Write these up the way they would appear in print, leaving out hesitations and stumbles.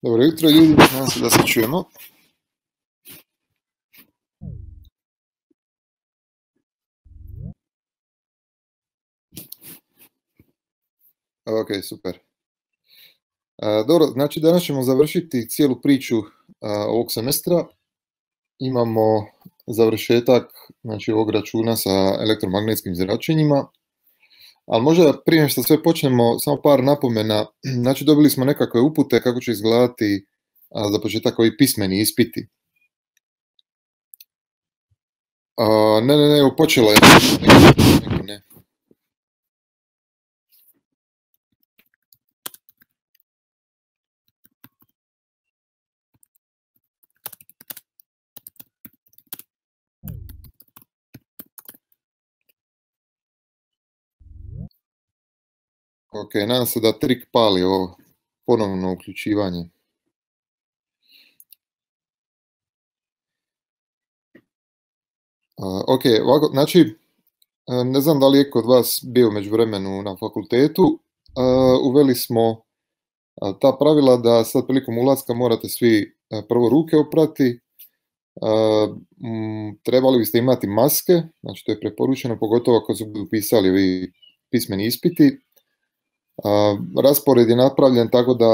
Dobro jutro ljudi, nadam se da se čujemo. Ok, super. Dobro, znači danas ćemo završiti cijelu priču ovog semestra. Imamo završetak znači, ovog računa sa elektromagnetskim zračenjima. Ali možda prije nego što sve počnemo, samo par napomena. Znači dobili smo nekakve upute kako će izgledati za početak ovi pismeni ispiti. Ne, počelo je. Ne. Ok, nadam se da trik pali ovo ponovno uključivanje. Ok, ovako, znači, ne znam da li je kod vas bio međuvremenu na fakultetu, uveli smo ta pravila da sad prilikom ulaska morate svi prvo ruke oprati, trebali biste imati maske, znači to je preporučeno, pogotovo ako su budu pisali ovi pismeni ispiti. Raspored je napravljen tako da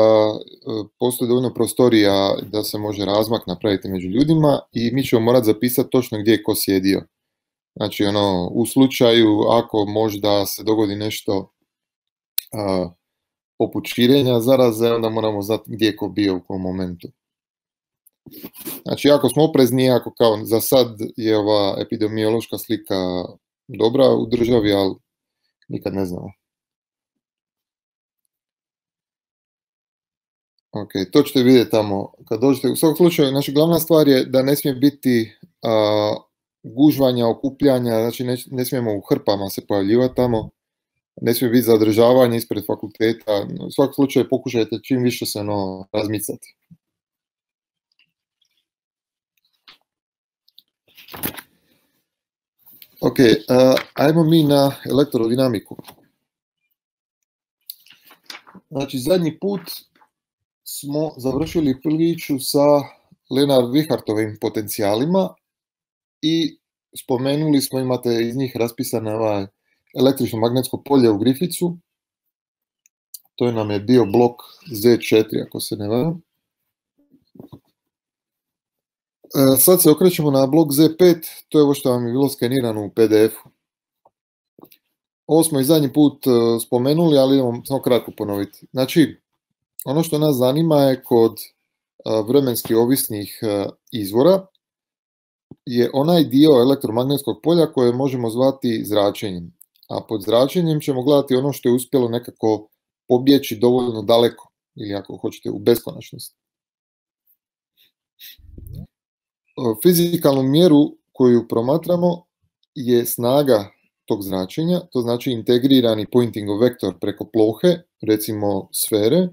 postoji dovoljno prostorija da se može razmak napraviti među ljudima i mi ćemo morati zapisati točno gdje je ko sjedio. Znači, u slučaju ako možda se dogodi nešto poput širenja zaraze, onda moramo znati gdje je ko bio u kom momentu. Znači, ako smo oprezni, ako kao za sad je ova epidemiološka slika dobra u državi, ali nikad ne znamo. Ok, to ćete vidjeti tamo kad dođete. U svakom slučaju, znači glavna stvar je da ne smije biti gužvanja, okupljanja, znači ne smijemo u hrpama se pojavljivati tamo, ne smije biti zadržavanje ispred fakulteta. U svakom slučaju pokušajte čim više se razmicati. Ok, ajmo mi na elektrodinamiku. Znači, zadnji put smo završili priču sa Lenard-Wihartovim potencijalima i spomenuli smo, imate iz njih raspisano električno magnetsko polje u Griffithu. To nam je bio blok Z4, ako se ne varam. Sad se okrećemo na blok Z5, to je ovo što vam je bilo skenirano u PDF-u. Ovo smo i zadnji put spomenuli, ali idemo samo kratko ponoviti. Znači, ono što nas zanima je kod vremenski ovisnih izvora je onaj dio elektromagnetskog polja koje možemo zvati zračenjem. A pod zračenjem ćemo gledati ono što je uspjelo nekako pobjeći dovoljno daleko ili ako hoćete u beskonačnost. Fizikalnu mjeru koju promatramo je snaga tog zračenja, to znači integrirani Poyntingov vektor preko plohe, recimo sfere,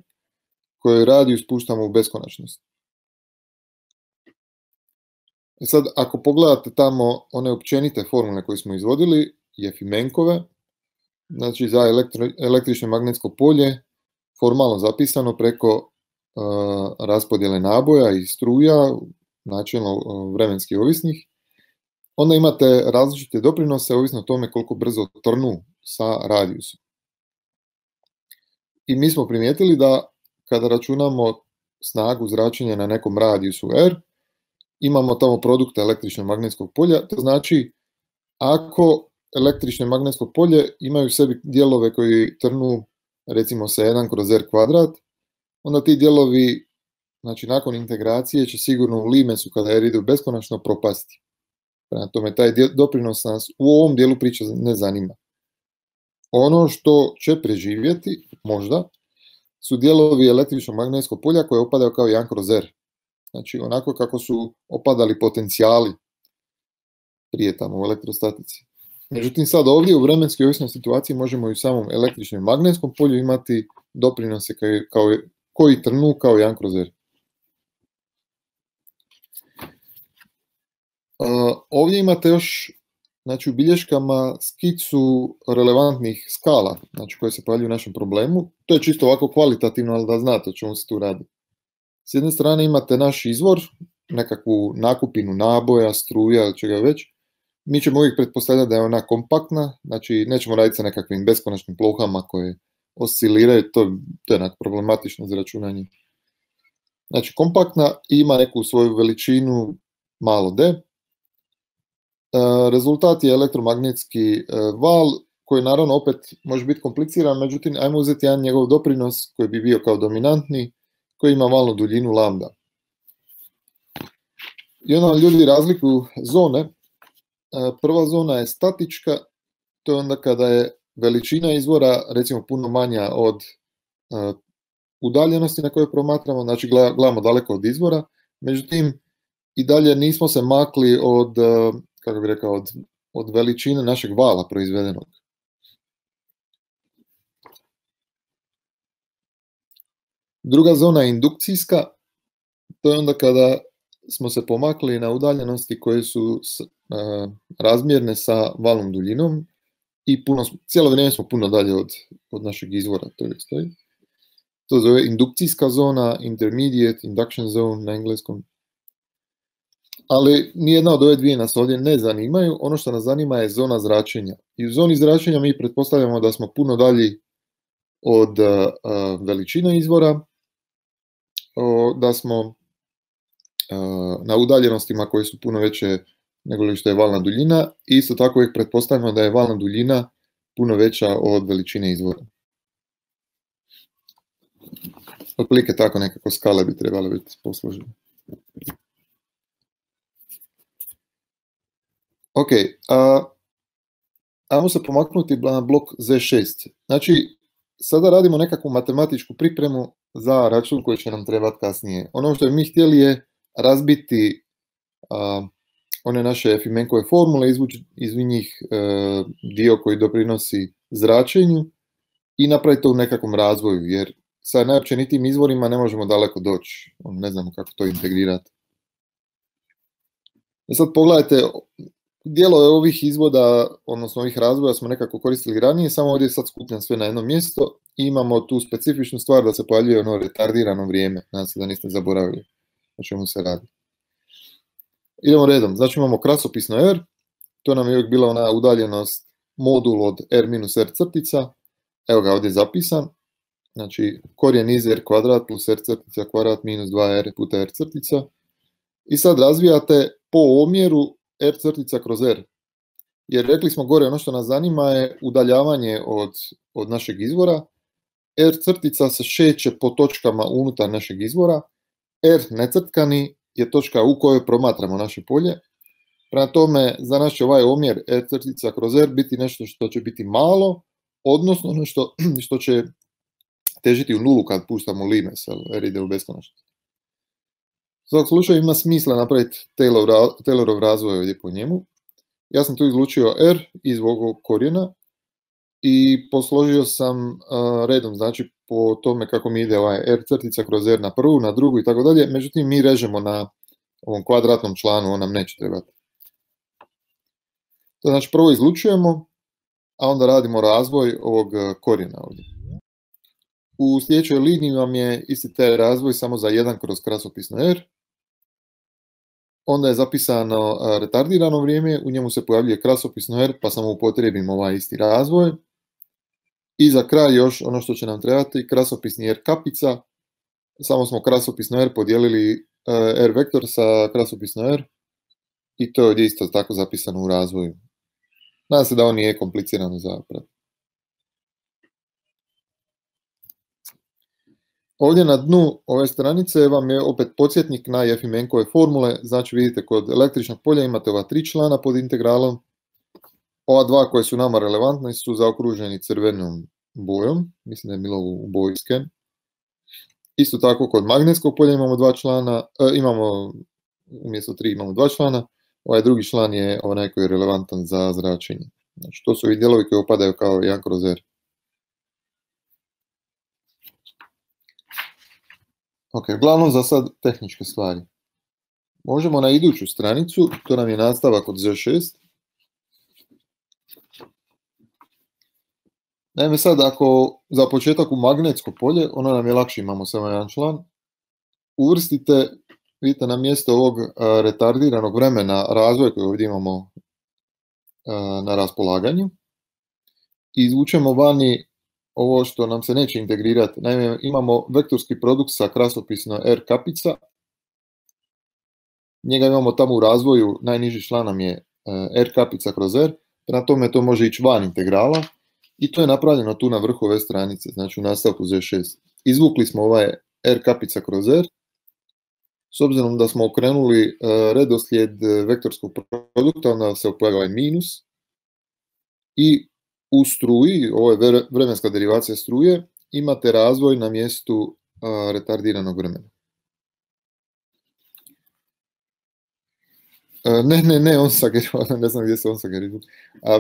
koje radiju spuštamo u beskonačnost. I sad, ako pogledate tamo one općenite formule koje smo izvodili, Jefimenkove, znači za električno magnetsko polje, formalno zapisano preko raspodjele naboja i struja, načelno vremenski ovisnih, onda imate različite doprinose ovisno o tome koliko brzo trnu sa radijusom. I mi smo primijetili da kada računamo snagu zračenja na nekom radijusu R, imamo tamo produkt električno magnetskog polja, to znači ako električno magnetsko polje imaju u sebi dijelove koji trnu recimo sa 1 kroz R kvadrat, onda ti dijelovi, znači nakon integracije će sigurno u limesu kada R ide u beskonačno propasti. Prema tome, taj doprinos nas u ovom dijelu priče ne zanima. Ono što će preživjeti, možda, su dijelovi električnog magnetskog polja koje opadaju kao 1 kroz R. Znači, onako kako su opadali potencijali prije tamo u elektrostatici. Međutim, sad ovdje u vremenskoj ovisnoj situaciji možemo i u samom električnom magnetskom polju imati doprinose koji trnu kao 1 kroz R. Ovdje imate još, znači, u bilješkama skicu relevantnih skala, znači koje se pojavljuju u našem problemu. To je čisto ovako kvalitativno, ali da znate o čemu se tu radi. S jedne strane imate naš izvor, nekakvu nakupinu naboja, struja ili čega već. Mi ćemo uvijek pretpostavljati da je ona kompaktna, znači nećemo raditi sa nekakvim beskonačnim plohama koje osciliraju, to je onak problematično za računanje. Znači kompaktna ima neku svoju veličinu malo d. Rezultat je elektromagnetski val koji naravno opet može biti kompliciran, međutim ajmo uzeti jedan njegov doprinos koji bi bio kao dominantni, koji ima valnu duljinu lambda. I onda ljudi razlikuju zone. Prva zona je statička, to je onda kada je veličina izvora recimo puno manja od udaljenosti na kojoj promatramo, znači gledamo daleko od izvora, međutim i dalje nismo se makli od, kako bih rekao, od veličine našeg vala proizvedenog. Druga zona je indukcijska, to je onda kada smo se pomakli na udaljenosti koje su razmjerne sa valnom duljinom i cijelo vrijeme smo puno dalje od našeg izvora. To zove indukcijska zona, intermediate, induction zone na engleskom. Ali nijedna od ove dvije nas ovdje ne zanimaju, ono što nas zanima je zona zračenja. I u zoni zračenja mi pretpostavljamo da smo puno dalji od veličine izvora, da smo na udaljenostima koje su puno veće nego što je valna duljina i isto tako uvijek pretpostavljamo da je valna duljina puno veća od veličine izvora. Otprilike tako nekako skale bi trebale biti posložene. Ok, ajmo se pomaknuti na blok Z6. Znači, sada radimo nekakvu matematičku pripremu za račun koji će nam trebati kasnije. Ono što mi htjeli je razbiti one naše Fimenkove formule, izvući iz njih dio koji doprinosi zračenju i napraviti to u nekakvom razvoju, jer sa najopćenitijim izvorima ne možemo daleko doći. Ne znamo kako to integrirati. I sad pogledajte, dijelove ovih izvoda, odnosno ovih razvoja smo nekako koristili ranije, samo ovdje sad skupljam sve na jedno mjesto i imamo tu specifičnu stvar da se pojavljuje ono retardirano vrijeme. Nadam se da niste zaboravili o čemu se radi. Idemo redom, znači imamo krasopisno R, to nam je uvijek bila ona udaljenost modul od R minus R crtica, evo ga ovdje zapisan, znači korijen iz R kvadrat plus R crtica kvadrat minus 2R puta R crtica i sad razvijate po omjeru R crtica kroz R, jer rekli smo gore ono što nas zanima je udaljavanje od našeg izvora, R crtica se šeće po točkama unutar našeg izvora, R necrtkani je točka u kojoj promatramo naše polje. Prema tome, za nas će ovaj omjer R crtica kroz R biti nešto što će biti malo, odnosno nešto što će težiti u nulu kad puštamo limes, R ide u beskonačnost. U svakom slučaju ima smisla napraviti Taylorov razvoj ovdje po njemu. Ja sam tu izlučio R iz ovog korijena i posložio sam redom, znači po tome kako mi ide ovaj R crtica kroz R na prvu, na drugu i tako dalje, međutim mi režemo na ovom kvadratnom članu, on nam neće trebati. To znači prvo izlučujemo, a onda radimo razvoj ovog korijena ovdje. U sljedećoj liniji vam je isti taj razvoj samo za 1 kroz krasopisno R. Onda je zapisano retardirano vrijeme, u njemu se pojavljuje krasopisno R, pa samo upotrijebim ovaj isti razvoj. I za kraj još ono što će nam trebati, krasopisni R kapica, samo smo krasopisno R podijelili R vektor sa krasopisno R i to je isto tako zapisano u razvoju. Nadam se da on nije komplicirano za pratiti. Ovdje na dnu ove stranice vam je opet podsjetnik na Fimenkove formule, znači vidite kod električnog polja imate ova 3 člana pod integralom, ova 2 koje su nama relevantne su zaokruženi crvenom bojom, mislim da je bilo u boji scan. Isto tako kod magnetskog polja imamo 2 člana, umjesto 3 imamo 2 člana, ovaj drugi član je onaj koji je relevantan za zračenje. Znači to su ovi dijelovi koji opadaju kao 1 kroz R. Ok, uglavnom za sad tehničke stvari. Možemo na iduću stranicu, to nam je nastavak od Z6. Naime sad, ako za početak u magnetsko polje, ono nam je lakše, imamo samo jedan član. uvrstite, vidite, na mjesto ovog retardiranog vremena razvoja koji ovdje imamo na raspolaganju, i izvučemo vani ovo što nam se neće integrirati. Naime, imamo vektorski produkt sa krasopisno R kapica, njega imamo tamo u razvoju, najniži član nam je R kapica kroz R, prema tome to može ići van integrala i to je napravljeno tu na vrhu ove stranice, znači u nastavku Z6. Izvukli smo ovaj R kapica kroz R, s obzirom da smo okrenuli redoslijed vektorskog produkta, onda se pojavi ovaj minus i u struji, ovo je vremenska derivacija struje, imate razvoj na mjestu retardiranog vremena. Ne, Onsager, ne znam gdje se Onsager izvuče.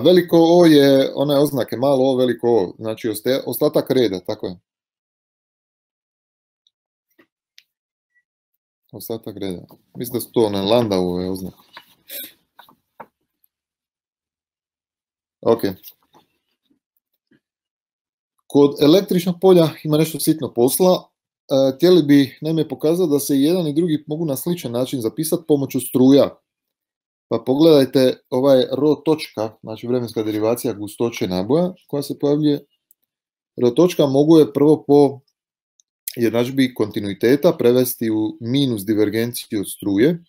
Veliko O je one oznake, malo O, veliko O, znači ostatak reda, tako je. Ostatak reda. Mislim da su to one Landauove oznake. Ok. Kod električnog polja ima nešto sitno posla. Htjeli bi naime pokazati da se jedan i drugi mogu na sličan način zapisati pomoću struja. Pa pogledajte ovaj ρ točka, znači vremenska derivacija gustoće naboja koja se pojavljuje. R točka mogu je prvo po jednadžbi kontinuiteta prevesti u minus divergenciju od struje.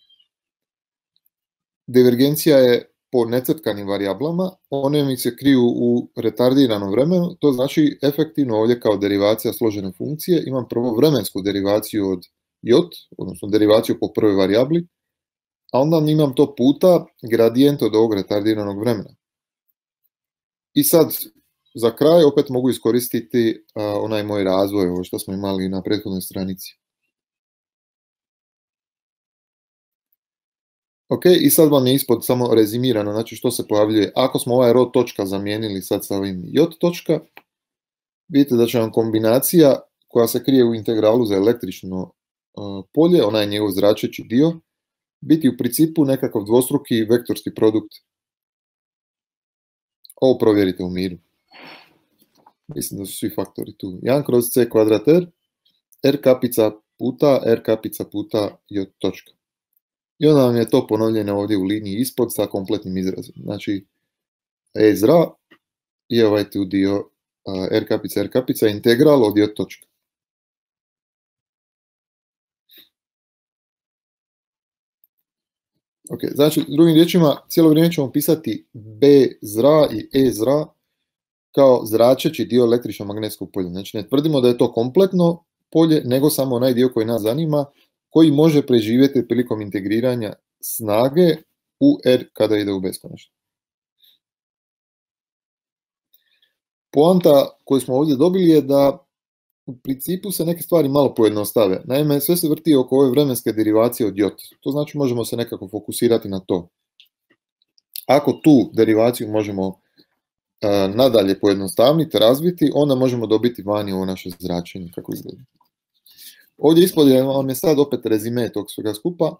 Divergencija je po necrtkanim varijablama, one mi se kriju u retardiranom vremenu, to znači efektivno ovdje kao derivacija složene funkcije imam prvo vremensku derivaciju od j, odnosno derivaciju po prvoj varijabli, a onda imam to puta gradijent od ovog retardiranog vremena. I sad, za kraj opet mogu iskoristiti onaj moj razvoj, ovo što smo imali na prethodnoj stranici. Ok, i sad vam je ispod samo rezimirano, znači što se pojavljuje. Ako smo ovaj ρ točka zamijenili sad sa ovim j točka, vidite da će vam kombinacija koja se krije u integralu za električno polje, onaj njegov zračeći dio, biti u principu nekakav dvostruki vektorski produkt. Ovo provjerite u miru. Mislim da su svi faktori tu. 1 kroz c kvadrat r kapica puta j točka. I onda vam je to ponovljeno ovdje u liniji ispod sa kompletnim izrazom. Znači, e zra i ovaj tu dio r kapica integral od j točka. Ok, znači, drugim riječima, cijelo vrijeme ćemo pisati b zra i e zra kao zračeći dio električno magnetskog polja. Znači, ne tvrdimo da je to kompletno polje, nego samo onaj dio koji nas zanima, koji može preživjeti prilikom integriranja snage u R kada ide u beskonačno. Poanta koju smo ovdje dobili je da u principu se neke stvari malo pojednostave. Naime, sve se vrti oko ove vremenske derivacije od j. To znači možemo se nekako fokusirati na to. Ako tu derivaciju možemo nadalje pojednostavniti, razviti, onda možemo dobiti vani ovo naše zračenje kako izgleda. Ovdje ispod vam je sad opet rezime tog svega skupa,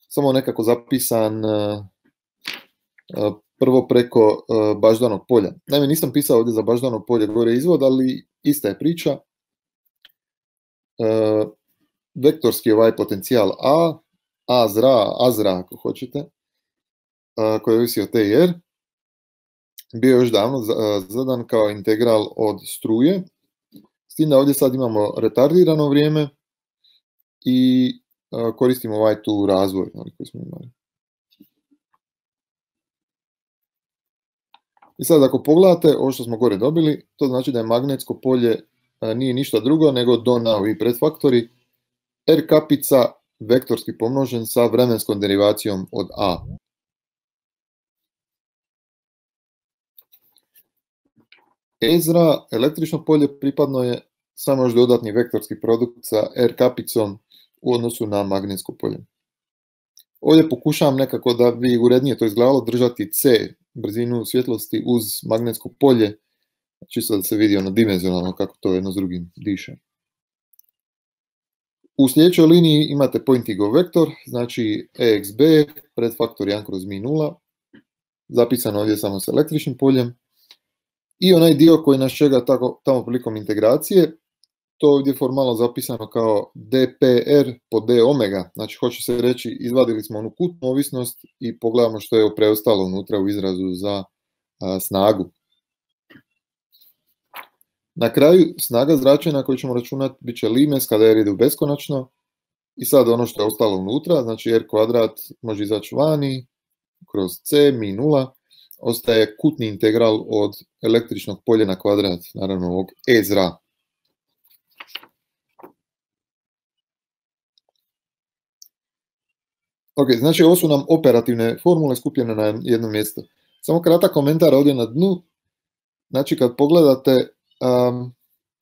samo nekako zapisan prvo preko baždanog polja. Naime, nisam pisao ovdje za baždano polje gore izvod, ali ista je priča. Vektorski ovaj potencijal A zra ako hoćete, koji ovisi o T i R, bio još davno zadan kao integral od struje, s tim da ovdje sad imamo retardirano vrijeme i koristimo ovaj tu razvoj koji smo imali. I sad ako pogledate ovo što smo gore dobili, to znači da je magnetsko polje nije ništa drugo nego dona ovi predfaktori R kapica vektorski pomnožen sa vremenskom derivacijom od A. Ezra, električno polje, pripadno je samo još dodatni vektorski produkt sa R kapicom u odnosu na magnetsko polje. Ovdje pokušavam nekako da bi urednije to izgledalo držati C, brzinu svjetlosti uz magnetsko polje, čisto da se vidi ono dimenzionalno kako to jedno s drugim diše. U sljedećoj liniji imate pointing of vektor, znači EXB, predfaktor 1 kroz mi 0, zapisano ovdje samo s električnim poljem. I onaj dio koji nas čega tamo prilikom integracije, to ovdje formalno zapisano kao dpr po d omega, znači hoće se reći izvadili smo onu kutnu ovisnost i pogledamo što je preostalo unutra u izrazu za snagu. Na kraju snaga zračenja koju ćemo računati bit će limes kada r ide u beskonačno i sad ono što je ostalo unutra, znači r kvadrat može izaći vani kroz c mi 0, ostaje kutni integral od električnog polja na kvadrat, naravno ovog e zra. Ok, znači ovo su nam operativne formule skupljene na jedno mjesto. Samo kratak komentar ovdje na dnu. Znači kad pogledate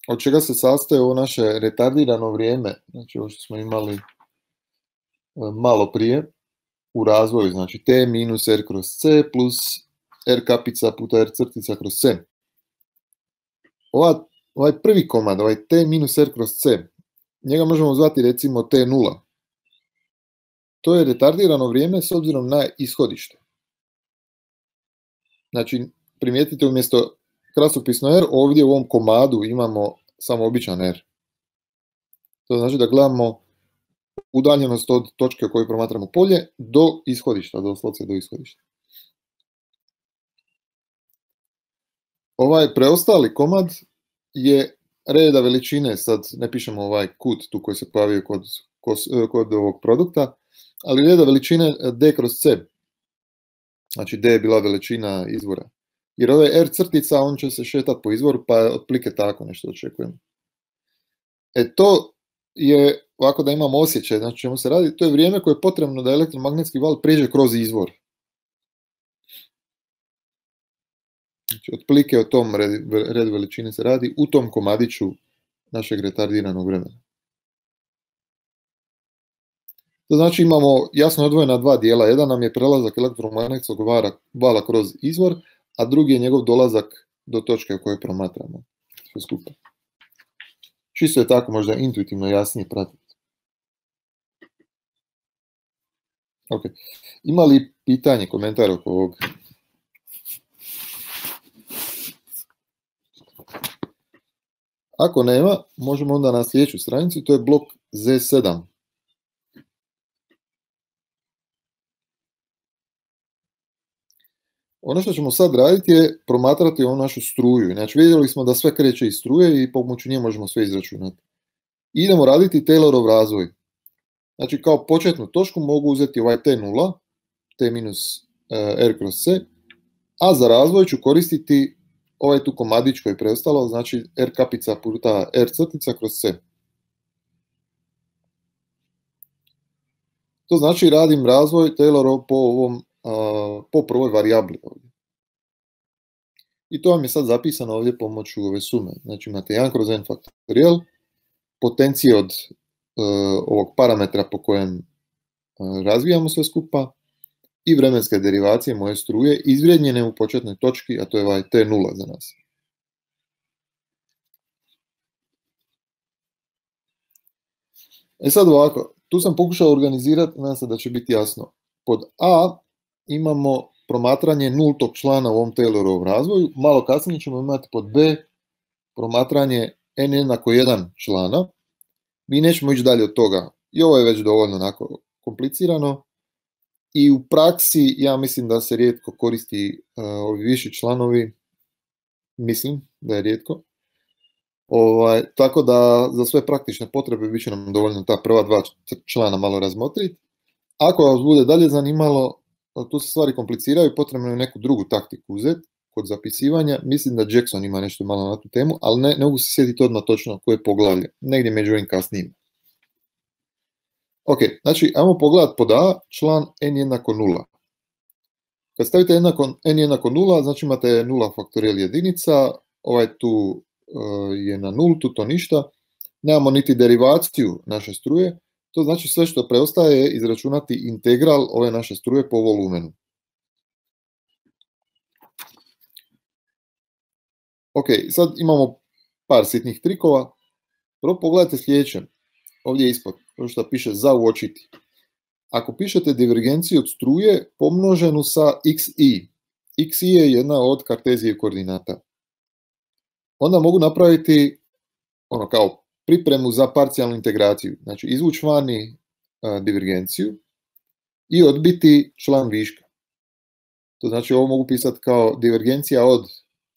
od čega se sastoje ovo naše retardirano vrijeme, znači ovo što smo imali malo prije u razvoju, znači t minus r kroz c plus r kapica puta r crtica kroz c. Ovaj prvi komad, ovaj t minus r kroz c, njega možemo zvati recimo t0. To je retardirano vrijeme s obzirom na ishodište. Znači, primijetite umjesto krasopisno r, ovdje u ovom komadu imamo samo običan r. To znači da gledamo udaljenost od točke u kojoj promatramo polje do ishodišta, doslovce do ishodišta. Ovaj preostali komad je reda veličine, sad ne pišemo ovaj kut tu koji se pojavio kod ovog produkta, ali reda veličine d kroz c. Znači d je bila veličina izvora. Jer ove r crtica, on će se šetati po izvoru, pa otprilike tako nešto očekujemo. To je, ovako da imamo osjećaj, znači čemu se radi, to je vrijeme koje je potrebno da elektromagnetski val prijeđe kroz izvor. Znači, otprilike o tom redu veličine se radi u tom komadiću našeg retardiranog vremena. To znači imamo jasno odvojena dva dijela. Jedan nam je prelazak elektromagnetskog vala kroz izvor, a drugi je njegov dolazak do točke u kojoj promatramo sve skupa. Čisto je tako možda intuitivno jasnije pratiti. Ok. Ima li pitanje, komentar oko ovog? Ako nema, možemo onda na sljedeću stranicu, to je blok Z7. Ono što ćemo sad raditi je promatrati ovu našu struju. Znači vidjeli smo da sve kreće iz struje i pomoću nje možemo sve izračunati. Idemo raditi Taylorov razvoj. Znači kao početnu točku mogu uzeti ovaj T0, T minus R kroz C, a za razvoj ću koristiti ovaj tu komadić koji je preostalo, znači R kapica puta R crtica kroz C. To znači radim razvoj Taylorov po prvoj varijabli ovdje. I to vam je sad zapisano ovdje pomoću ove sume. Znači imate 1 kroz n faktorijal, potencije od ovog parametra po kojem razvijamo sve skupa i vremenske derivacije moje struje izvrijednjene u početnoj točki, a to je ovaj T0 za nas. Sad ovako, tu sam pokušao organizirati, nadam se da će biti jasno. Pod A imamo promatranje nultog člana u ovom Taylorovom razvoju, malo kasnije ćemo imati pod B promatranje n jednako 1 člana. Mi nećemo ići dalje od toga, i ovo je već dovoljno onako komplicirano. I u praksi ja mislim da se rijetko koristi ovi viši članovi, mislim da je rijetko. Tako da za sve praktične potrebe bit će nam dovoljno ta prva dva člana malo razmotriti. Ako vas bude dalje zanimalo, tu se stvari kompliciraju, potrebno je neku drugu taktiku uzeti kod zapisivanja. Mislim da Jackson ima nešto malo na tu temu, ali ne mogu se sjetiti odmah točno koje poglavlje, negdje među ovim kasnijim. Ok, znači ajmo pogledati pod A, član n jednako 0. Kad stavite n jednako 0, znači imate 0 faktorijal jedinica, ovaj tu je na nultu, to ništa. Nemamo niti derivaciju naše struje, to znači sve što preostaje je izračunati integral ove naše struje po volumenu. Ok, sad imamo par sitnih trikova. Prvo pogledajte sljedeće, ovdje ispod, što piše za uočiti. Ako pišete divergenciju od struje pomnoženu sa xi, xi je jedna od kartezije koordinata, onda mogu napraviti kao pripremu za parcijalnu integraciju. Znači, izvući vani divergenciju i odbiti član viška. To znači, ovo mogu pisati kao divergencija od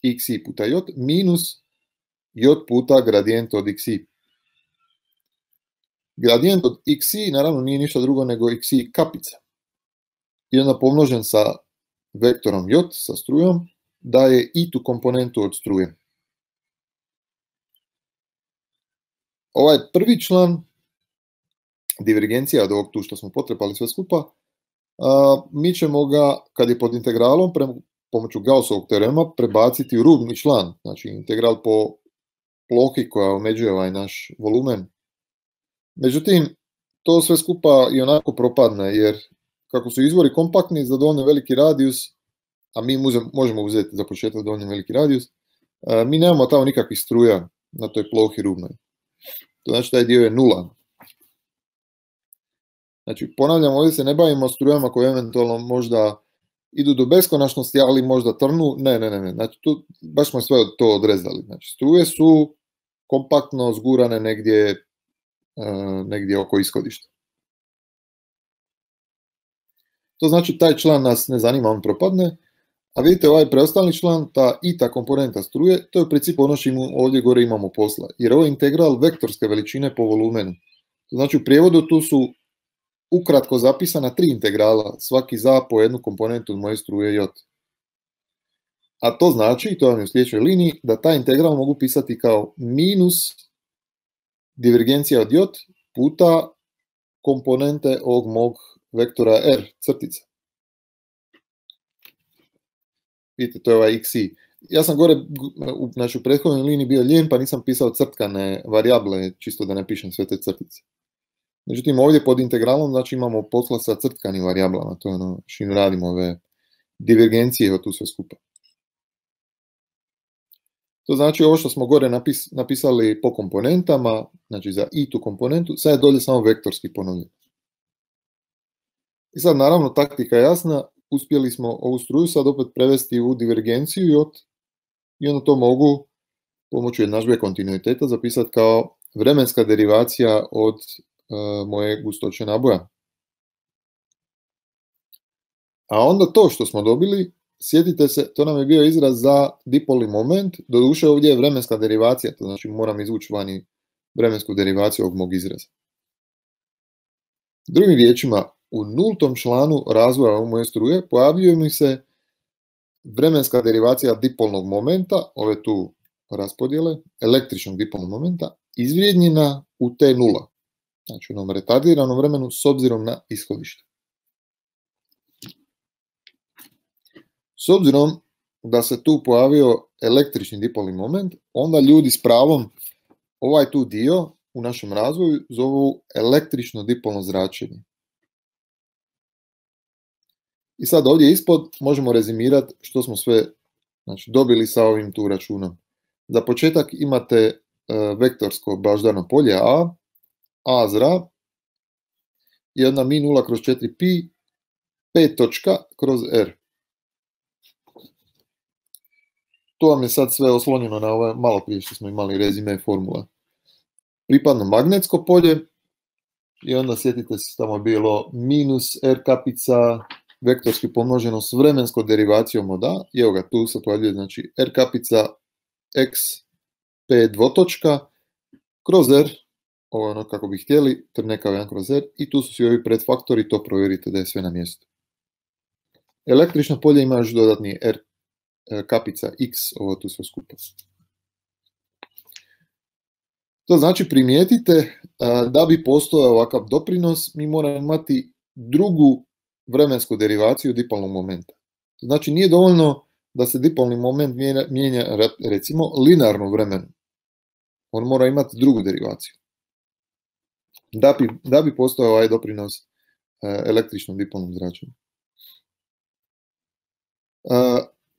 xi puta j minus j puta gradijent od xi. Gradijent od xi naravno nije ništa drugo nego xi kapica. I onda pomnožen sa vektorom j, sa strujom, daje i tu komponentu od struje. Ovaj prvi član, divergencija od ovog tu što smo potrepali sve skupa, mi ćemo ga, kad je pod integralom, pomoću Gaussovog teorema, prebaciti u rubni član, znači integral po plohi koja omeđuje ovaj naš volumen. Međutim, to sve skupa i onako propadne, jer kako su izvori kompaktni za dovoljno veliki radijus, a mi možemo uzeti za početak dovoljno veliki radijus, mi nemamo tamo nikakvih struja na toj plohi rubnoj. To znači taj dio je nula. Znači, ponavljam, ovdje se ne bavimo strujama koje eventualno možda idu do beskonačnosti, ali možda trnu. Ne. Znači, tu baš smo sve to odrezali. Znači, struje su kompaktno zgurane negdje oko ishodišta. To znači, taj član nas ne zanima, on propadne. A vidite, ovaj preostali član, ta komponenta struje, to je u principu ono što ovdje gore imamo posla. Jer ovo je integral vektorske veličine po volumenu. To znači, u prijevodu tu su ukratko zapisana 3 integrala, svaki za po jednu komponentu od moje struje j. A to znači, to vam je u sljedećoj liniji, da taj integral mogu pisati kao minus divergencija od j puta komponente ovog mog vektora r, crtica. Vidite, to je ovaj xi. Ja sam gore, znači u prethodnoj liniji bio lijen, pa nisam pisao crtkane varijable, čisto da ne pišem sve te crtice. Međutim, ovdje pod integralom, znači imamo posla sa crtkanim varijablama, to je ono što radimo ove divergencije od tu sve skupa. To znači ovo što smo gore napisali po komponentama, znači za i tu komponentu, sad je dolje samo vektorski ponovljen. I sad naravno taktika je jasna, uspjeli smo ovu struju sad opet prevesti u divergenciju i onda to mogu pomoću jednadžbe kontinuiteta zapisati kao vremenska derivacija od moje gustoće naboja. A onda to što smo dobili, sjetite se, to nam je bio izraz za dipolni moment, doduše ovdje je vremenska derivacija, to znači moram izvući vani vremensku derivaciju ovog mog izraza. Drugim riječima, u nultom članu razvoja ove moje struje pojavljuje mi se vremenska derivacija dipolnog momenta, ove tu raspodjele, električnog dipolnog momenta, izvrijednjena u T0. Znači u onom retardiranom vremenu s obzirom na ishodište. S obzirom da se tu pojavio električni dipolni moment, onda ljudi s pravom ovaj tu dio u našem razvoju zovu električno dipolno zračenje. I sad ovdje ispod možemo rezimirati što smo sve dobili sa ovim tu računom. Za početak imate vektorsko baždarno polje A zra je jedna mi 0 kroz 4 pi 5 točka kroz r. To vam je sad sve oslonjeno na ove malo prije što smo imali rezime formula. Pripadno magnetsko polje i onda sjetite se tamo bilo minus r kapica vektorski pomnoženo s vremenskom derivacijom od a. I evo ga, tu se pojavljuje znači r kapica x p dvotočka kroz r. Ovo je ono kako bi htjeli, trnekao 1 kroz r, i tu su svi ovi predfaktori, to provjerite da je sve na mjestu. Električno polje ima još dodatni r kapica x, ovo tu sve skupa. To znači primijetite da bi postojao ovakav doprinos, mi moramo imati drugu vremensku derivaciju dipolnog momenta. To znači nije dovoljno da se dipolni moment mijenja recimo linearno vremenu. On mora imati drugu derivaciju. Da bi postojao ovaj doprinos električnom dipolnom zračenju.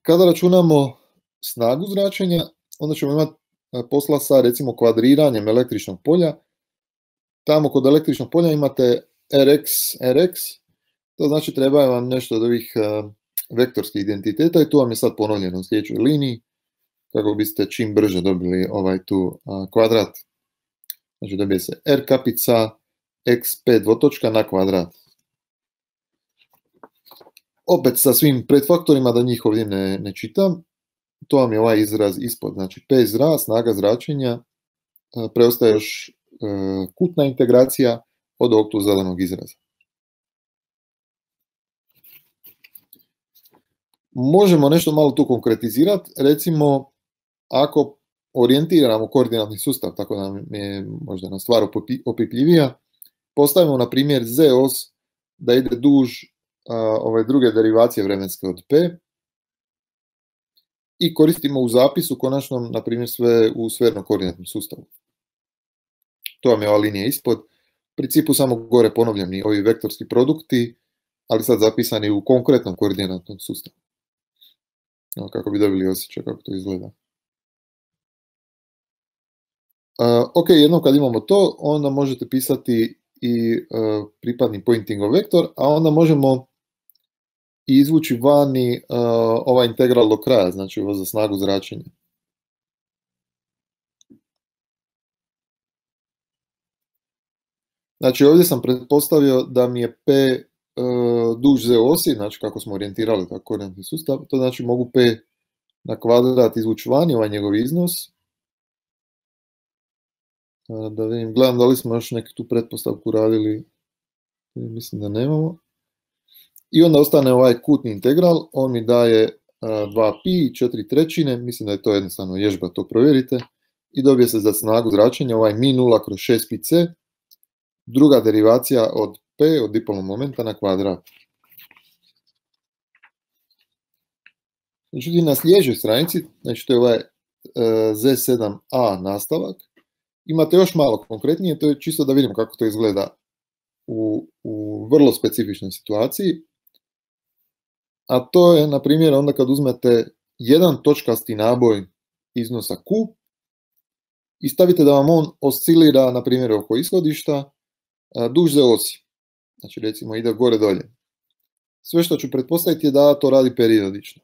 Kada računamo snagu zračenja, onda ćemo imati posla sa recimo kvadriranjem električnog polja. Tamo kod električnog polja imate Rx, to znači treba vam nešto od ovih vektorskih identiteta i tu vam je sad ponovljeno u sljedećoj liniji kako biste čim brže dobili ovaj tu kvadrat Znači dobije se R kapica x5 dvotočka na kvadrat. Opet sa svim predfaktorima, da njih ovdje ne čitam, to vam je ovaj izraz ispod. Znači P zra, snaga zračenja, preostaje još kutna integracija od ovog tu zadanog izraza. Možemo nešto malo tu konkretizirati, recimo ako orijentiramo koordinatni sustav, tako da je možda na stvar opipljivija, postavimo na primjer Z os da ide duž ove druge derivacije vremenske od P i koristimo u zapisu konačnom, na primjer, sve u sfernom koordinatnom sustavu. To vam je ova linija ispod. U principu samo gore ponovljeni ovi vektorski produkti, ali sad zapisani u konkretnom koordinatnom sustavu. Kako bi dobili osjećaj kako to izgleda. Ok, jednom kad imamo to, onda možete pisati i pripadni pointingov vektor, a onda možemo izvući vani ovaj integral do kraja, znači ovo za snagu zračenja. Znači ovdje sam pretpostavio da mi je P duž Z osi, znači kako smo orijentirali tako koordinatni sustav, to znači mogu P na kvadrat izvući vani, ovaj njegov iznos. Da vidim, gledam da li smo još neku tu pretpostavku radili, mislim da nemamo. I onda ostane ovaj kutni integral, on mi daje 2pi, 4/3, mislim da je to jednostavno vježba, to provjerite. I dobije se za snagu zračenja ovaj mi 0 kroz 6pic, druga derivacija od P, od dipolnog momenta na kvadrat. Međutim, na sljedećoj stranici, znači to je ovaj Z7a nastavak, imate još malo konkretnije, to je čisto da vidimo kako to izgleda u vrlo specifičnoj situaciji. A to je, na primjer, onda kad uzmete jedan točkasti naboj iznosa Q i stavite da vam on oscilira, na primjer, oko ishodišta, duž Z osi. Znači, recimo, ide gore dolje. Sve što ću pretpostaviti je da to radi periodično.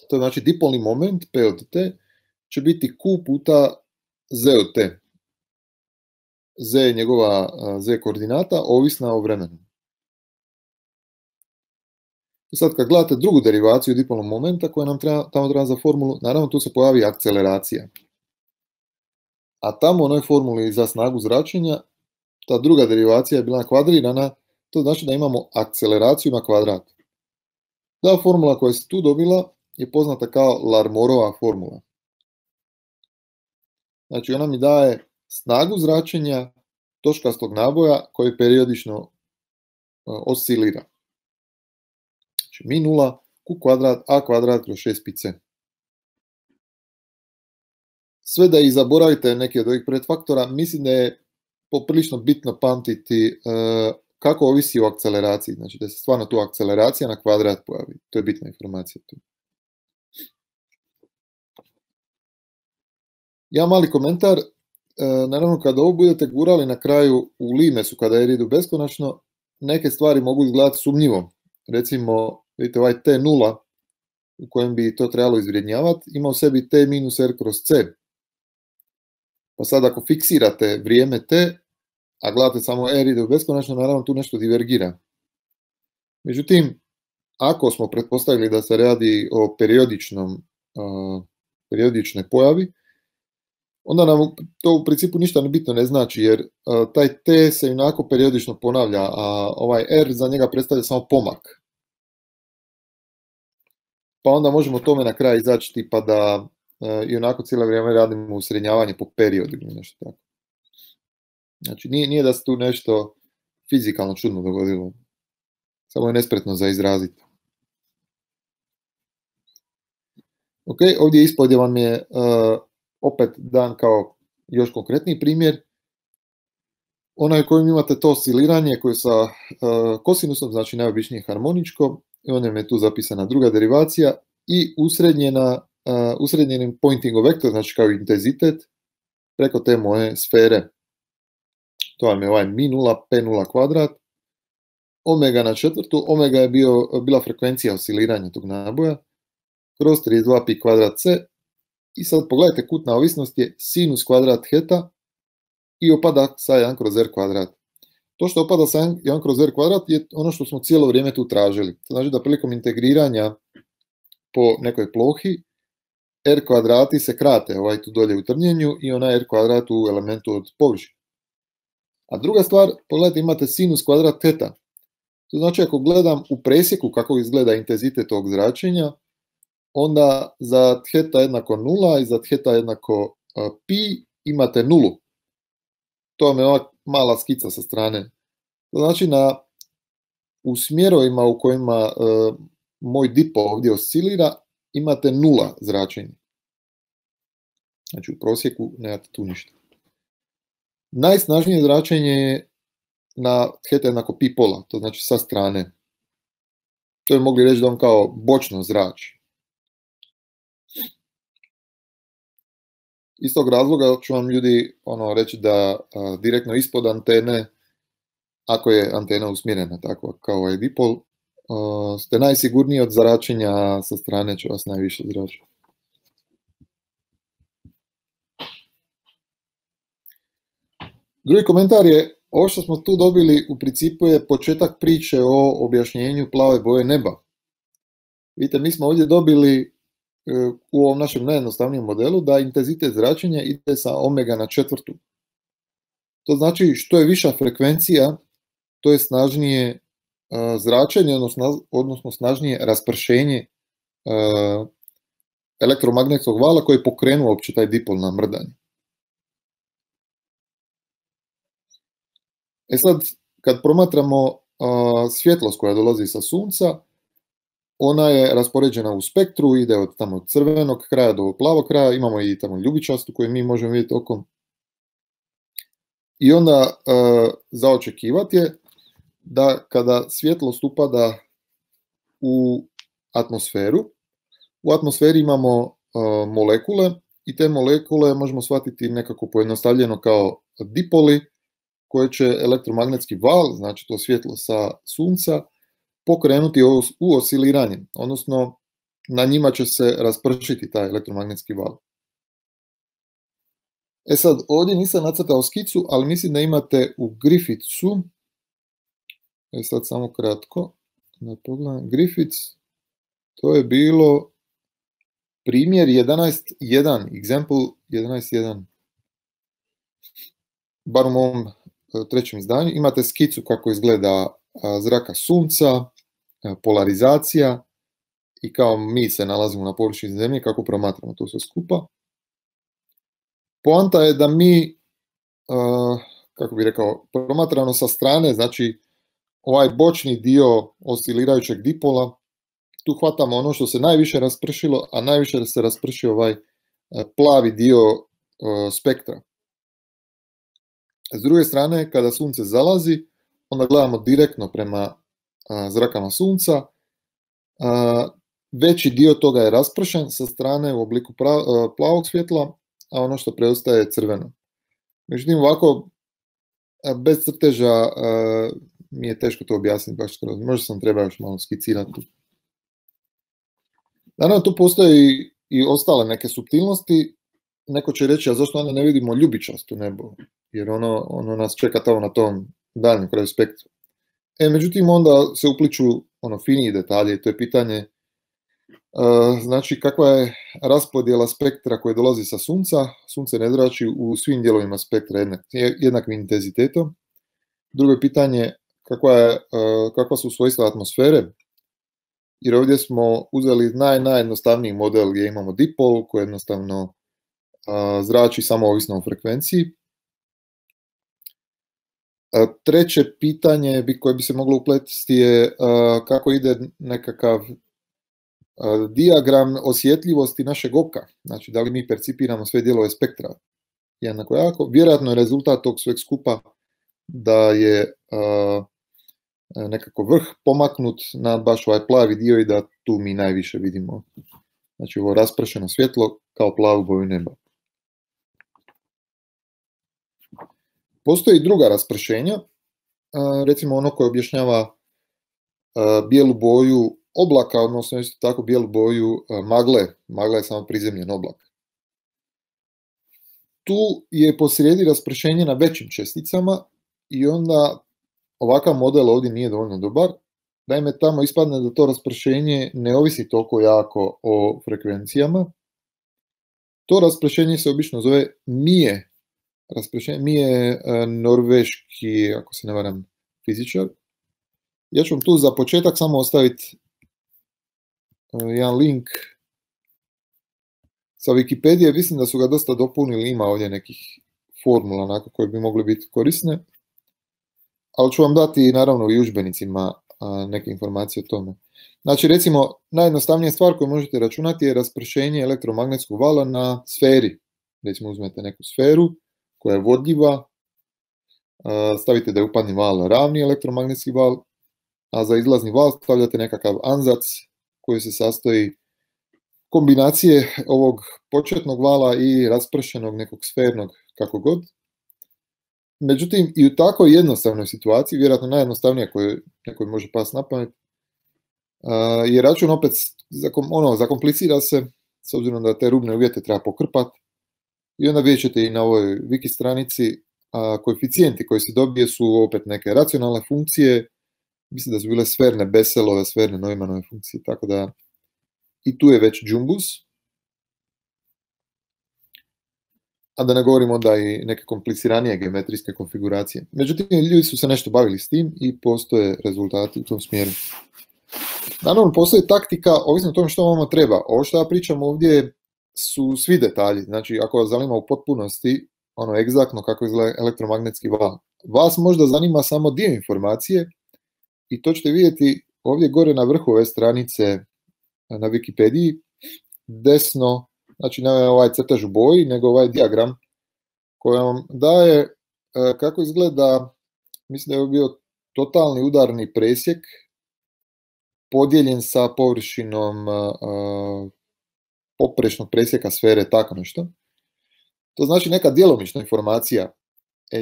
To znači dipolni moment, P od T, će biti Q puta Z od T. Z je njegova Z koordinata, ovisna o vremenu. I sad kad gledate drugu derivaciju dipolnog momenta koja nam tamo treba za formulu, naravno tu se pojavi akceleracija. A tamo u onoj formuli za snagu zračenja, ta druga derivacija je bila kvadrirana, to znači da imamo akceleraciju na kvadrat. Ta formula koja se tu dobila je poznata kao Larmorova formula. Znači ona mi daje snagu zračenja točkastog naboja koji periodično oscilira. Znači mi 0, Q kvadrat, A kvadrat kroz 6pic. Sve da i zaboravite neki od ovih predfaktora, mislim da je poprilično bitno pamtiti kako ovisi o akceleraciji. Znači da se stvarno tu akceleracija na kvadrat pojavi. To je bitna informacija tu. Ja mali komentar, naravno kada ovo budete gurali na kraju u limesu kada je idu beskonačno, neke stvari mogu izgledati sumnjivo. Recimo, vidite ovaj T0 u kojem bi to trebalo izvrednjavati, ima u sebi T minus R kroz C. Pa sad ako fiksirate vrijeme T, a gledate samo R ide u beskonačno, naravno tu nešto divergira. Međutim, ako smo pretpostavili da se radi o periodičnoj pojavi, onda nam to u principu ništa bitno ne znači, jer taj T se inako periodično ponavlja, a ovaj R za njega predstavlja samo pomak. Pa onda možemo tome na kraj izaći tipa da i onako cijelo vrijeme radimo usrednjavanje po periodu ili nešto tako. Znači nije da se tu nešto fizikalno čudno dogodilo, samo je nespretno za izraziti. Ok, ovdje ispod vam je opet dan kao još konkretniji primjer. Onaj kojim imate to osciliranje koje sa kosinusom, znači najobičnije harmoničko, i onda je tu zapisana druga derivacija i usrednjenim pointingov vektor, znači kao intenzitet, preko te moje sfere. To vam je ovaj mi 0, P0 kvadrat, omega na četvrtu, omega je bila frekvencija osciliranja tog naboja, kroz 32 pi kvadrat C, i sad pogledajte, kutna ovisnost je sinus kvadrat heta, i opada sa 1 kroz r kvadrat. To što opada sa 1 kroz r kvadrat je ono što smo cijelo vrijeme tu tražili. To znači da prilikom integriranja po nekoj plohi r kvadrati se krate, ovaj tu dolje u trnjenju i onaj r kvadrat u elementu od površine. A druga stvar, pogledajte, imate sinus kvadrat teta. To znači ako gledam u presjeku kako izgleda intenzitet tog zračenja, onda za theta jednako 0 i za theta jednako pi imate nulu. To vam je ova mala skica sa strane. To znači u smjerovima u kojima moj dipol ovdje oscilira imate nula zračenja. Znači u prosjeku nemate tu ništa. Najsnažnije zračenje je na theta jednako pi pola, to znači sa strane. To je mogli reći da on kao bočno zrači. Iz tog razloga ću vam ljudi reći da direktno ispod antene, ako je antena usmjerena tako kao ovaj dipol, ste najsigurniji od zračenja sa strane, će vas najviše zračiti. Drugi komentar je, ovo što smo tu dobili u principu je početak priče o objašnjenju plave boje neba. Vidite, mi smo ovdje dobili u ovom našem najjednostavnijem modelu da intenzitet zračenja ide sa omega na četvrtu. To znači što je viša frekvencija, to je snažnije zračenje, odnosno snažnije raspršenje elektromagnetskog vala koji je pokrenuo uopće taj dipol na mrdanje. E sad, kad promatramo svjetlost koja dolazi sa sunca, ona je raspoređena u spektru, ide od tamo crvenog kraja do plavog kraja, imamo i tamo ljubičastu koju mi možemo vidjeti okom. I onda za očekivati je da kada svjetlost upada u atmosferu, u atmosferi imamo molekule i te molekule možemo shvatiti nekako pojednostavljeno kao dipoli koje će elektromagnetski val, znači to svjetlo sa sunca, pokrenuti u osciliranje, odnosno na njima će se raspršiti taj elektromagnetski val. E sad, ovdje nisam nacrtao skicu, ali mislim da imate u Griffithsu, sad samo kratko, da pogledam, Griffiths, to je bilo primjer 11.1, example 11.1, bar u mom trećem izdanju, imate skicu kako izgleda zraka sunca, polarizacija i kao mi se nalazimo na površini zemlje, kako promatramo to sve skupa. Poanta je da mi, kako bih rekao, promatrano sa strane, znači ovaj bočni dio oscilirajućeg dipola, tu hvatamo ono što se najviše raspršilo, a najviše se raspršio ovaj plavi dio spektra. S druge strane, kada sunce zalazi, onda gledamo direktno prema zrakama sunca. Veći dio toga je raspršen sa strane u obliku plavog svjetla, a ono što preostaje je crveno. Međutim, ovako, bez crteža mi je teško to objasniti baš skroz. Možda sam trebao još malo skicirati. Naravno, tu postoje i ostale neke suptilnosti. Neko će reći, a zašto onda ne vidimo ljubičasto nebo? Jer ono nas čeka tamo na tom daljnjem kraju spektra. Međutim, onda se upliču finiji detalje, to je pitanje znači kakva je raspodjela spektra koje dolazi sa sunca. Sunce ne zrači u svim dijelovima spektra jednakim intenzitetom. Drugo je pitanje kakva su svojstva atmosfere, jer ovdje smo uzeli najjednostavniji model gdje imamo dipol koji jednostavno zrači samo ovisno o frekvenciji. Treće pitanje koje bi se moglo upletiti je kako ide nekakav dijagram osjetljivosti našeg oka. Znači, da li mi percipiramo sve dijelove spektra jednako jako. Vjerojatno je rezultat tog sveg skupa da je nekako vrh pomaknut na baš ovaj plavi dio i da tu mi najviše vidimo. Znači, ovo raspršeno svjetlo kao plavu boju neba. Postoji druga raspršenja, recimo ono koje objašnjava bijelu boju oblaka, odnosno isto tako bijelu boju magle. Magla je samo prizemljen oblak. tu je posrijedi raspršenje na većim česticama i onda ovakav model ovdje nije dovoljno dobar. Naime, tamo ispadne da to raspršenje ne ovisi toliko jako o frekvencijama. To raspršenje se obično zove Mie. Mie je norveški, ako se ne varam, fizičar. Ja ću vam tu za početak samo ostaviti jedan link sa Wikipedije. Mislim da su ga dosta dopunili, ima ovdje nekih formula onako koje bi mogle biti korisne. Ali ću vam dati naravno i udžbenicima neke informacije o tome. Znači, recimo, najjednostavnija stvar koju možete računati je raspršenje elektromagnetskog vala na sferi. Recimo, uzmete neku sferu koja je vodljiva, stavite da je upadni val ravni elektromagnetski val, a za izlazni val stavljate nekakav anzac koji se sastoji kombinacije ovog početnog vala i raspršenog nekog sfernog, kako god. Međutim, i u tako jednostavnoj situaciji, vjerojatno najjednostavnija koju nekoj može pasti na pamet, je račun opet zakomplicira se, s obzirom da te rubne uvjete treba pokrpati. I onda vidjet ćete i na ovoj wiki stranici koeficijenti koji se dobije su opet neke racionalne funkcije, mislim da su bile sferne Besselove, sferne Neumannove funkcije, tako da i tu je već džumbus. A da ne govorimo onda i neke kompliciranije geometrijske konfiguracije. Međutim, ljudi su se nešto bavili s tim i postoje rezultati u tom smjeru. Naravno, postoji taktika, ovisno o tome što vama treba. Ovo što ja pričam ovdje su svi detalji. Znači, ako vas zanima u potpunosti, egzaktno kako izgleda elektromagnetski val, vas možda zanima samo dio informacije i to ćete vidjeti ovdje gore na vrhu ove stranice na Wikipediji, desno, znači ne ovaj crtež u boji, nego ovaj dijagram koji vam daje kako izgleda, mislim da je bio totalni udarni presjek podijeljen sa površinom poprečnog presjeka sfere, tako nešto. To znači neka djelomična informacija.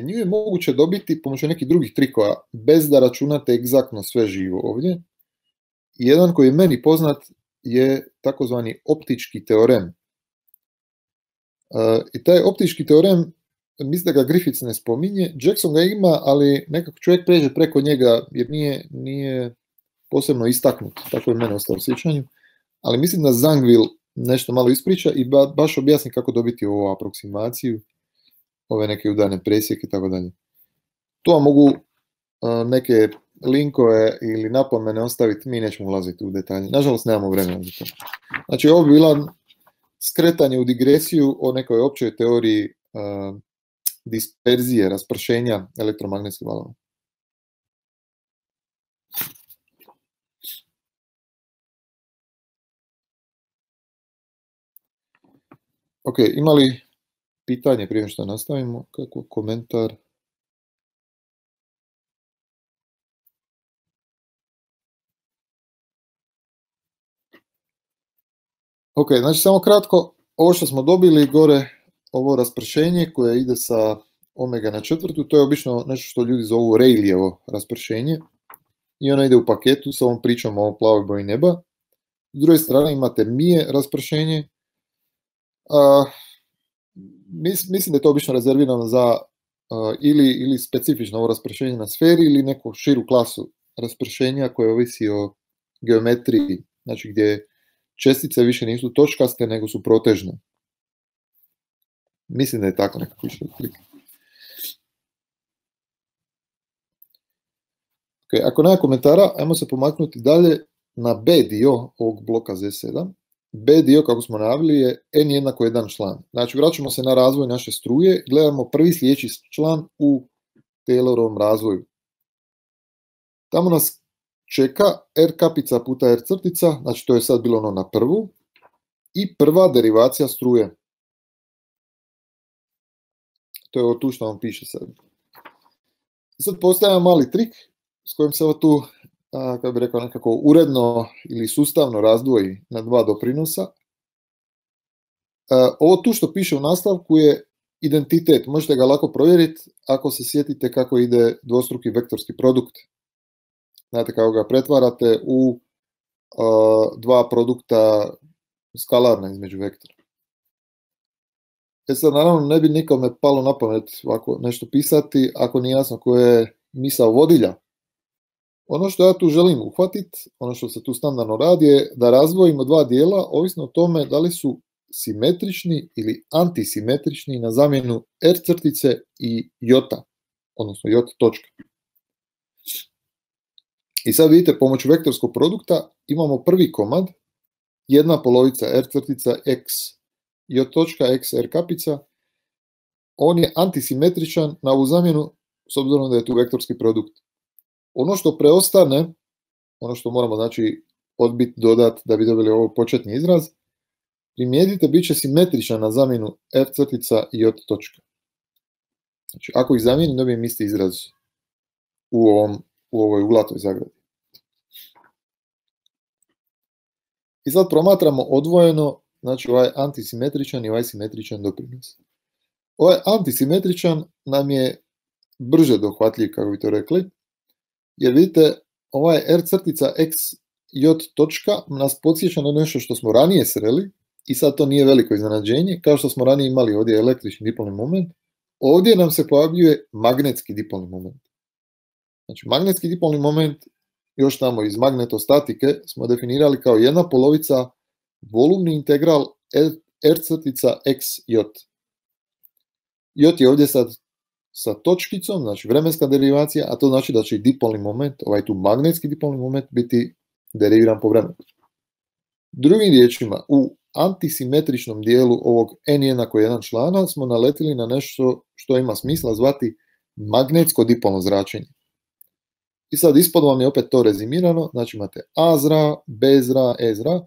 Nju je moguće dobiti pomoću nekih drugih trikova, bez da računate egzaktno sve živo ovdje. Jedan koji je meni poznat je takozvani optički teorem. I taj optički teorem, mislim da ga Griffiths ne spominje, Jackson ga ima, ali nekako čovjek pređe preko njega jer nije posebno istaknut, tako je mene ostalo u sjećanju, ali mislim da Zangwill nešto malo ispriča i baš objasni kako dobiti ovu aproksimaciju, ove neke udarne presjeke i tako dalje. Tu vam mogu neke linkove ili napomene ostaviti, mi nećemo ulaziti u detalje. Nažalost, nemamo vremena za to. Znači, ovo bi bila skretanje u digresiju o nekoj općoj teoriji disperzije, raspršenja elektromagnetskih valova. Ok, ima li pitanje prije što nastavimo? Kako komentar? Ok, znači samo kratko, ovo što smo dobili gore, ovo raspršenje koje ide sa omega na četvrtu, to je obično nešto što ljudi zovu Rayleighovo raspršenje i ono ide u paketu sa ovom pričom o plavoj boji neba. S druge strane imate Mie raspršenje. Mislim da je to obično rezervirano za ili specifično ovo raspršenje na sferi ili neku širu klasu raspršenja koje ovisi o geometriji, znači gdje čestice više nisu točkaste nego su protežne. Mislim da je tako nekako išlo otprilike. Okay, ako nema komentara, ajmo se pomaknuti dalje na B dio ovog bloka Z7. B dio, kako smo najavili, je n jednako 1 član. Znači, vraćamo se na razvoj naše struje, gledamo prvi sljedeći član u Taylorovom razvoju. Tamo nas čeka R kapica puta R crtica, znači to je sad bilo ono na prvu, i prva derivacija struje. To je ovo tu što vam piše sad. Sad postaje mali trik s kojim se ovo tu, kako bi rekao, nekako uredno ili sustavno razdvoji na dva doprinosa. Ovo tu što piše u nastavku je identitet. Možete ga lako provjeriti ako se sjetite kako ide dvostruki vektorski produkt. Znate kako ga pretvarate u dva produkta skalarna između vektora. sad, naravno, ne bi nikome palo na pamet ovako nešto pisati ako nije jasno koja je misao vodilja. Ono što ja tu želim uhvatiti, ono što se tu standardno radi je da razdvojimo dva dijela, ovisno o tome da li su simetrični ili antisimetrični na zamjenu R crtice i jota, odnosno J točka. I sad vidite, pomoću vektorskog produkta imamo prvi komad, jedna polovica R crtica x J točka x R kapica, on je antisimetričan na ovu zamjenu s obzirom da je tu vektorski produkt. Ono što preostane, ono što moramo znači odbiti, dodati da bi dobili ovaj početni izraz, primijetite, bit će simetričan na zamjenu F crtica i J točka. Znači, ako ih zamijenim, dobijem isti izraz u ovoj uglatoj zagradi. I sad promatramo odvojeno, znači ovaj antisimetričan i ovaj simetričan doprinos. Ovaj antisimetričan nam je brže dohvatljiv, kako bi to rekli, jer vidite, ovaj R crtica x J točka nas podsjeća na nešto što smo ranije sreli i sad to nije veliko iznenađenje, kao što smo ranije imali ovdje električni dipolni moment, ovdje nam se pojavljuje magnetski dipolni moment. Znači, magnetski dipolni moment, još tamo iz magnetostatike, smo definirali kao jedna polovica volumni integral R crtica x J. J je ovdje sad sa točkicom, znači vremenska derivacija, a to znači da će i dipolni moment, ovaj tu magnetski dipolni moment, biti deriviran po vremenu. Drugim riječima, u antisimetričnom dijelu ovog n jednako 1 člana smo naletili na nešto što ima smisla zvati magnetsko dipolno zračenje. I sad ispod vam je opet to rezimirano, znači imate A zra, B zra, E zra,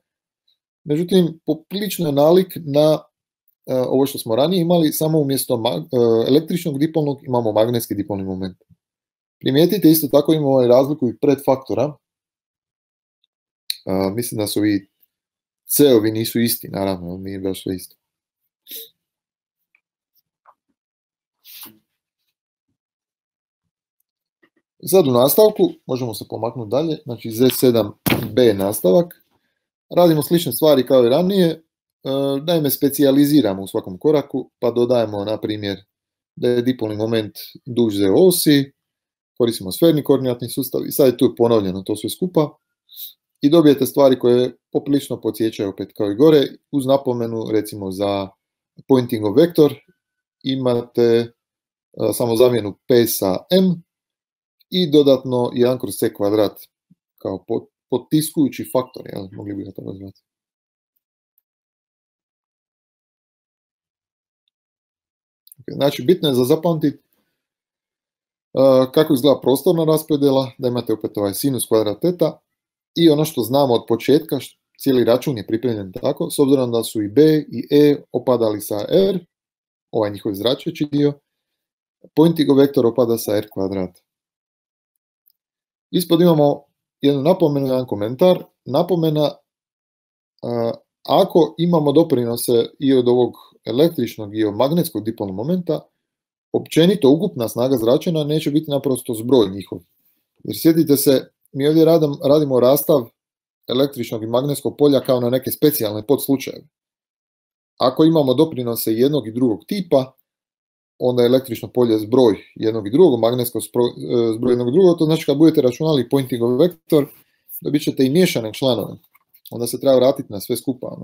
međutim poprilično je nalik na ovo što smo ranije imali, samo umjesto električnog dipolnog imamo magnetski dipolni moment. Primijetite, isto tako imamo ovaj razliku i predfaktora. Mislim da su i C-ovi nisu isti, naravno, nije baš sve isto. I sad u nastavku, možemo se pomaknuti dalje, znači Z7B nastavak. Radimo slične stvari kao i ranije, naime specijaliziramo u svakom koraku, pa dodajemo, na primjer, da je dipolni moment duž Z osi, koristimo sferni koordinatni sustav i sad je tu ponovljeno to sve skupa i dobijete stvari koje poprilično podsjećaju opet kao i gore, uz napomenu recimo za pointing of vektor imate samo zamjenu P sa M i dodatno 1 kroz C kvadrat kao potiskujući faktor, jel? Mogli bi ga to nazvati. Znači, bitno je za zapamtiti kako izgleda prostorna raspodjela, da imate opet ovaj sinus kvadrat teta i ono što znamo od početka, cijeli račun je pripremljen tako, s obzirom da su i B i E opadali sa R, ovaj njihov zračeći dio, pointing vektor opada sa R kvadrat. Ispod imamo jednu napomenu, jedan komentar. Napomena, ako imamo doprinose i od ovog električnog i od magnetskog dipolnog momenta, općenito ukupna snaga zračenja neće biti naprosto zbroj njihov. Jer sjetite se, mi ovdje radimo rastav električnog i magnetskog polja kao na neke specijalne podslučajeve. Ako imamo doprinose jednog i drugog tipa, onda je električno polje zbroj jednog i drugog, magnetsko zbroj jednog i drugog, to znači kad budete računali pointing vektor, dobit ćete i miješane članove. Onda se treba vratiti na sve skupa.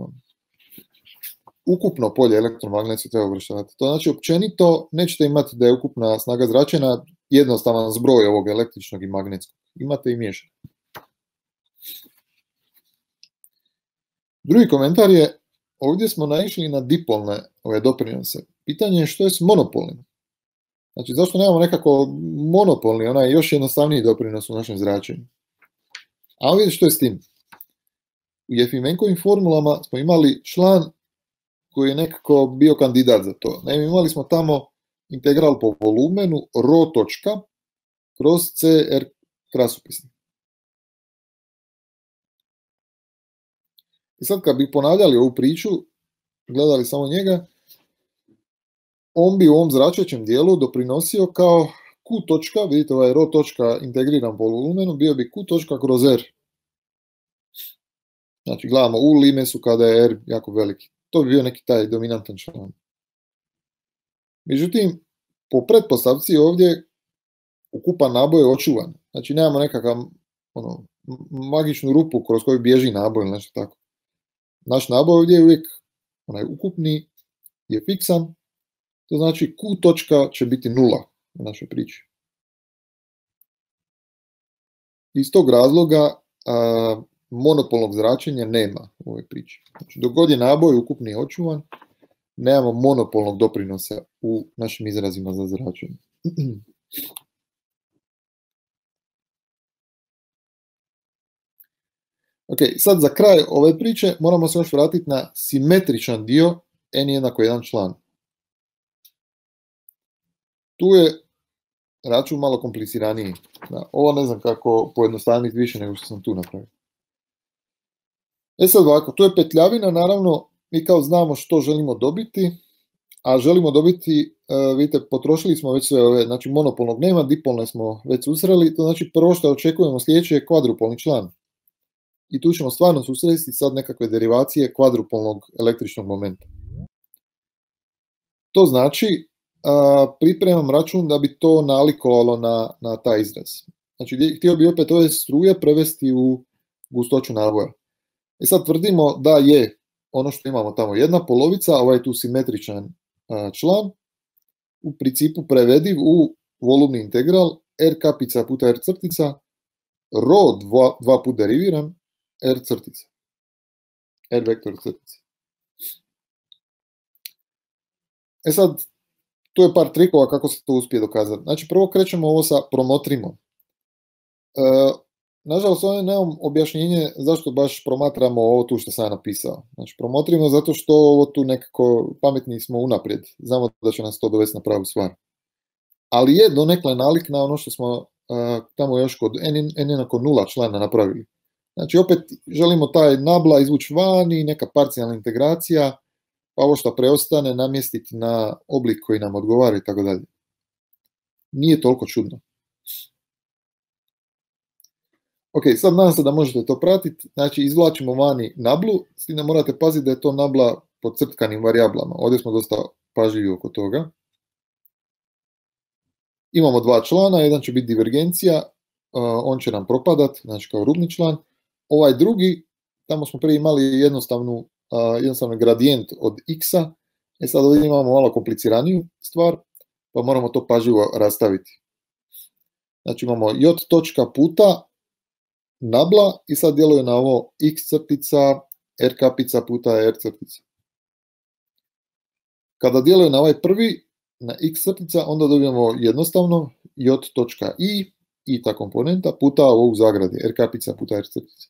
Ukupno polje elektromagnetsko treba uvrštavati. To znači općenito nećete imati da je ukupna snaga zračenja jednostavan zbroj ovog električnog i magnetskog. Imate i miješane. Drugi komentar je, ovdje smo naišli na dipolne ove doprinose. Pitanje je što je s monopolnim. Znači, zašto nemamo nekako monopolni, onaj još jednostavniji doprinos u našem zračenju. A vidite što je s tim. U Jefimenkovim formulama smo imali član koji je nekako bio kandidat za to. Naime, imali smo tamo integral po volumenu ρ točka kroz CR krasopisni. I sad kad bi ponavljali ovu priču, gledali samo njega, on bi u ovom zračećem dijelu doprinosio kao Q točka, vidite ovaj ρ točka integriran po volumenu, bio bi Q točka kroz R. Znači gledamo u limesu kada je R jako veliki. To bi bio neki taj dominantan član. Međutim, po pretpostavci ovdje ukupan naboj je očuvan. Znači nemamo nekakav magičnu rupu kroz koju bježi naboj ili nešto tako. Naš naboj ovdje je uvijek onaj ukupni, je fiksan, to znači Q točka će biti nula u našoj priči. Iz tog razloga monopolnog zračenja nema u ovoj priči. Znači, dok god je naboj ukupni očuvan, nemamo monopolnog doprinosa u našim izrazima za zračenje. Ok, sad za kraj ove priče moramo se još vratiti na simetričan dio n jednako 1 član. Tu je račun malo kompliciraniji. Ovo ne znam kako pojednostaviti više nego što sam tu napravio. Sad ovako, tu je petljavina, naravno, mi kao znamo što želimo dobiti, a želimo dobiti, vidite, potrošili smo već sve ove, znači monopolnog nema, dipolne smo već susreli, to znači prvo što očekujemo sljedeće je kvadrupolni član. I tu ćemo stvarno susresti sad nekakve derivacije kvadrupolnog električnog momenta. To znači, pripremam račun da bi to nalikovalo na taj izraz. Znači, htio bi opet ove struje prevesti u gustoću naboja. Sad tvrdimo da je ono što imamo tamo jedna polovica, ovaj tu simetričan član, u principu prevediv u volumni integral r kapica puta r crtica, rho dva put deriviran, r crtica, r vektor crtica. Sad, tu je par trikova kako se to uspije dokazati. Znači, prvo krećemo ovo sa promotrimo. Nažalost, ovdje nemam objašnjenje zašto baš promatramo ovo tu što sam napisao. Znači, promotrimo zato što ovo tu nekako pametni smo unaprijed. Znamo da će nas to dovesti na pravu stvar. Ali je donekle nalik na ono što smo tamo još kod n jednako 0 člana napravili. Znači, opet želimo taj nabla izvući van i neka parcijalna integracija, pa ovo što preostane namjestiti na oblik koji nam odgovara i tako dalje. Nije toliko čudno. Ok, sad nadam se da možete to pratiti. Znači, izvlačimo vani nablu, s tim da morate paziti da je to nabla pod crtkanim varijablama. Ovdje smo dosta pažljivi oko toga. Imamo dva člana, jedan će biti divergencija, on će nam propadat, znači kao rubni član. Ovaj drugi, tamo smo prije imali jednostavni gradijent od x-a, sad ovdje imamo malo kompliciraniju stvar, pa moramo to pažljivo rastaviti. Znači imamo j točka puta nabla i sad djeluje na ovo x crtica, r kapica puta r crtica. Kada djeluje na ovaj prvi, na x crtica, onda dobijemo jednostavno j točka i ta komponenta puta ovog zagradi, r kapica puta r crtica.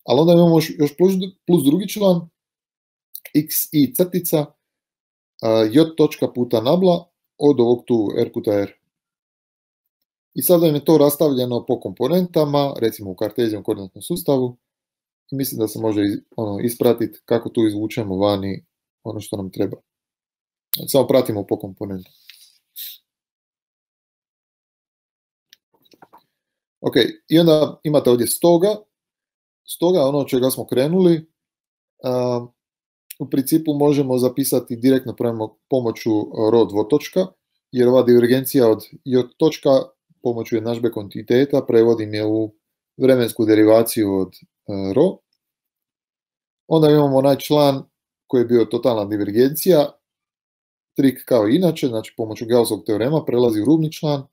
Ali onda imamo još plus drugi član, x i crtica, j točka puta nabla od ovog tu r puta r. I sada je to rastavljeno po komponentama, recimo u kartezijom koordinatnom sustavu. I mislim da se može ispratiti kako tu izvučemo vani ono što nam treba. Samo pratimo po komponentu. Ok, i onda imate ovdje stoga. Stoga ono od čega smo krenuli, u principu možemo zapisati direktno pomoću rho dvotočka, jer ova divergencija od j točka pomoću jednadžbe kontinuiteta prevodim je u vremensku derivaciju od rho. Onda imamo onaj član koji je bio totalna divergencija, trik kao i inače, znači pomoću Gaussovog teorema prelazi u rubni član.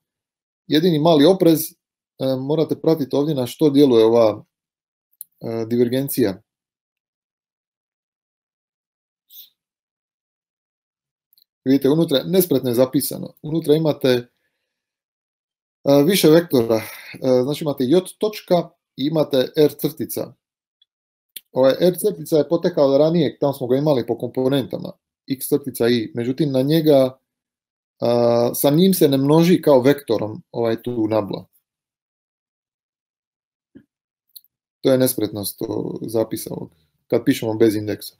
Jedini mali oprez, morate pratiti ovdje na što djeluje ova divergencija. Vidite, unutra nespretno je zapisano. Unutra imate više vektora. Znači imate j točka i imate r crtica. Ovaj r crtica je potekao od ranije, tamo smo ga imali po komponentama. X crtica i. Međutim, na njega sa njim se ne množi kao vektorom ovaj tu nabla. To je nespretnost zapisa ovog, kad pišemo bez indeksa.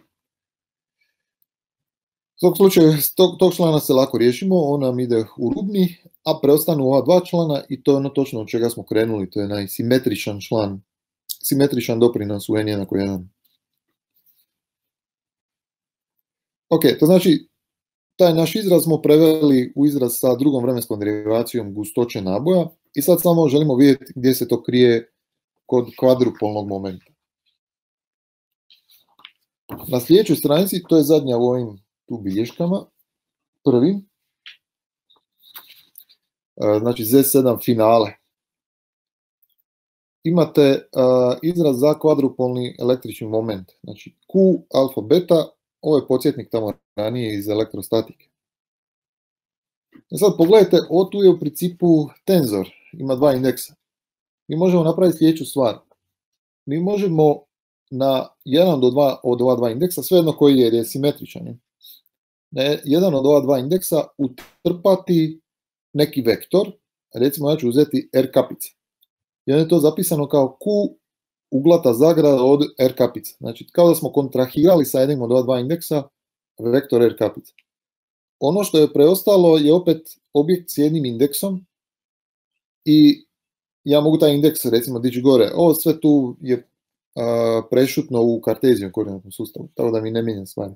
U tog slučaju, tog člana se lako riješimo, on nam ide u rubni, a preostanu ova dva člana i to je ono točno od čega smo krenuli, to je najsimetričan član, simetričan doprinos u n jednako 1. Ok, to znači, taj naš izraz smo preveli u izraz sa drugom vremenskom derivacijom gustoće naboja i sad samo želimo vidjeti gdje se to krije kod kvadrupolnog momenta. Na sljedećoj stranici, to je zadnja u ovim tu bilješkama, prvi, znači Z7 finale. Imate izraz za kvadrupolni električni moment, znači Q alfa beta, ovo je podsjetnik tamo ranije iz elektrostatike. I sad pogledajte, ovo tu je u principu tenzor, ima dva indeksa. Mi možemo napraviti sljedeću stvar. Mi možemo na jedan od ova dva indeksa, svejedno koji je, jer je simetričan, na jedan od ova dva indeksa utrpati neki vektor, recimo ja ću uzeti R kapice. I onda je to zapisano kao Q uglata zagrada od R kapice. Znači, kao da smo kontrahirali sa jednim od ova dva indeksa vektor R kapice. Ono što je preostalo je opet objekt s jednim indeksom i ja mogu taj indeks recimo dići gore. Ovo sve tu je prešutno u kartezijom koordinatnom sustavu, tako da mi ne mijenja stvari.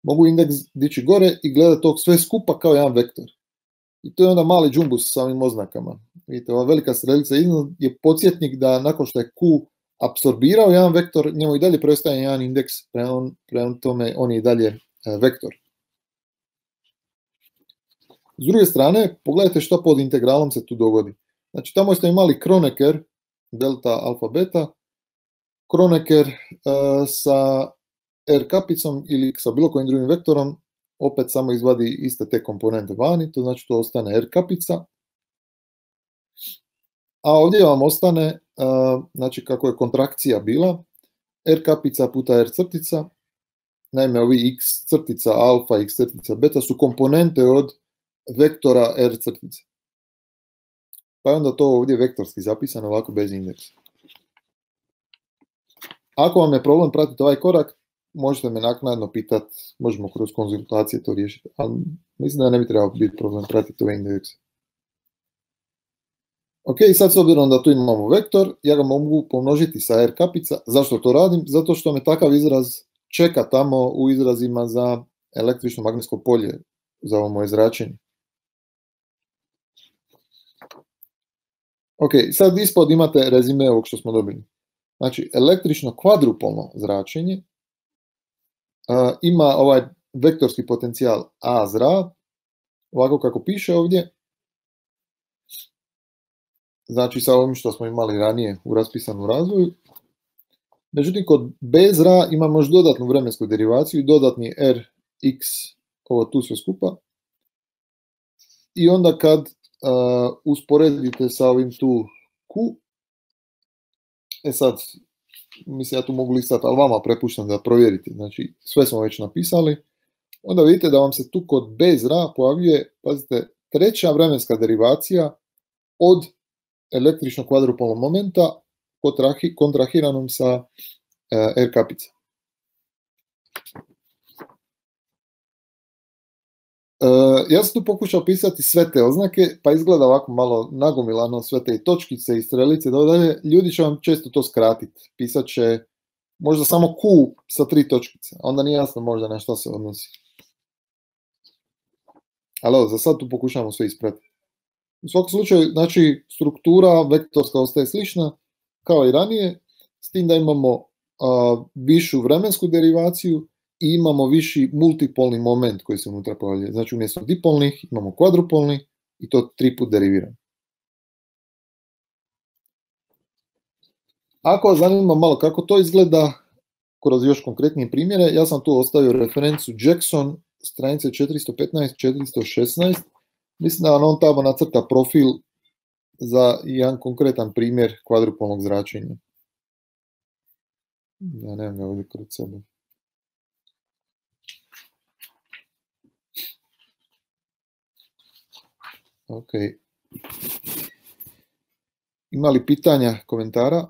Mogu indeks dići gore i gledati tog sve skupa kao jedan vektor. I to je onda mali džumbus sa ovim oznakama. Vidite, ova velika strelica iznad je podsjetnik da nakon što je Q apsorbirao jedan vektor, njemu i dalje preostaje jedan indeks, prema tome on je i dalje vektor. S druge strane, pogledajte što pod integralom se tu dogodi. Znači, tamo ste imali Kronecker, delta alfa beta, Kronecker sa R kapicom ili sa bilo kojim drugim vektorom, opet samo izvadi iste te komponente vani, to znači to ostane R kapica. A ovdje vam ostane, znači kako je kontrakcija bila, R kapica puta R crtica, naime ovi x crtica alfa, x crtica beta su komponente od vektora R crtice. Pa je onda to ovdje vektorski zapisano ovako bez indeksa. Ako vam je problem pratiti ovaj korak, možete me naknadno pitati, možemo kroz konzultacije to riješiti, ali mislim da ne bi trebao biti problem pratiti ove indekse. Ok, sad s obzirom da tu imamo vektor, ja ga mogu pomnožiti sa R kapica. Zašto to radim? Zato što me takav izraz čeka tamo u izrazima za električno magnetsko polje, za ovo moje zračenje. Ok, sad ispod imate rezime ovog što smo dobili. Znači, električno kvadrupolno zračenje ima ovaj vektorski potencijal A zra, ovako kako piše ovdje. Znači, sa ovim što smo imali ranije u raspisanom razvoju. Međutim, kod B zra imamo još dodatnu vremensku derivaciju, dodatni Rx, ovo tu sve skupa. I onda kad usporedite sa ovim tu Q, sad, mislim ja tu mogu listati, ali vama prepuštam da provjerite, znači sve smo već napisali, onda vidite da vam se tu kod B zra pojavljuje, pazite, treća vremenska derivacija od električnog kvadrupolnog momenta kontrahiranom sa R kapica. Ja sam tu pokušao pisati sve te oznake, pa izgleda ovako malo nagomilano sve te točkice i strelice, ljudi će vam često to skratiti, pisat će možda samo Q sa 3 točkice, onda nije jasno možda na što se odnosi. Ali za sad tu pokušamo sve ispratiti. U svakom slučaju, znači, struktura vektorska ostaje slična kao i ranije, s tim da imamo višu vremensku derivaciju i imamo viši multipolni moment koji se unutra pojavljuje. Znači, umjesto dipolnih imamo kvadrupolni i to 3 put deriviramo. Ako vas zanima malo kako to izgleda, kroz još konkretnije primjere, ja sam tu ostavio referencu Jackson, stranice 415-416. Mislim da on tamo nacrta profil za jedan konkretan primjer kvadrupolnog zračenja. Ja nemam ga ovdje kod sebe. Ok. Ima li pitanja, komentara?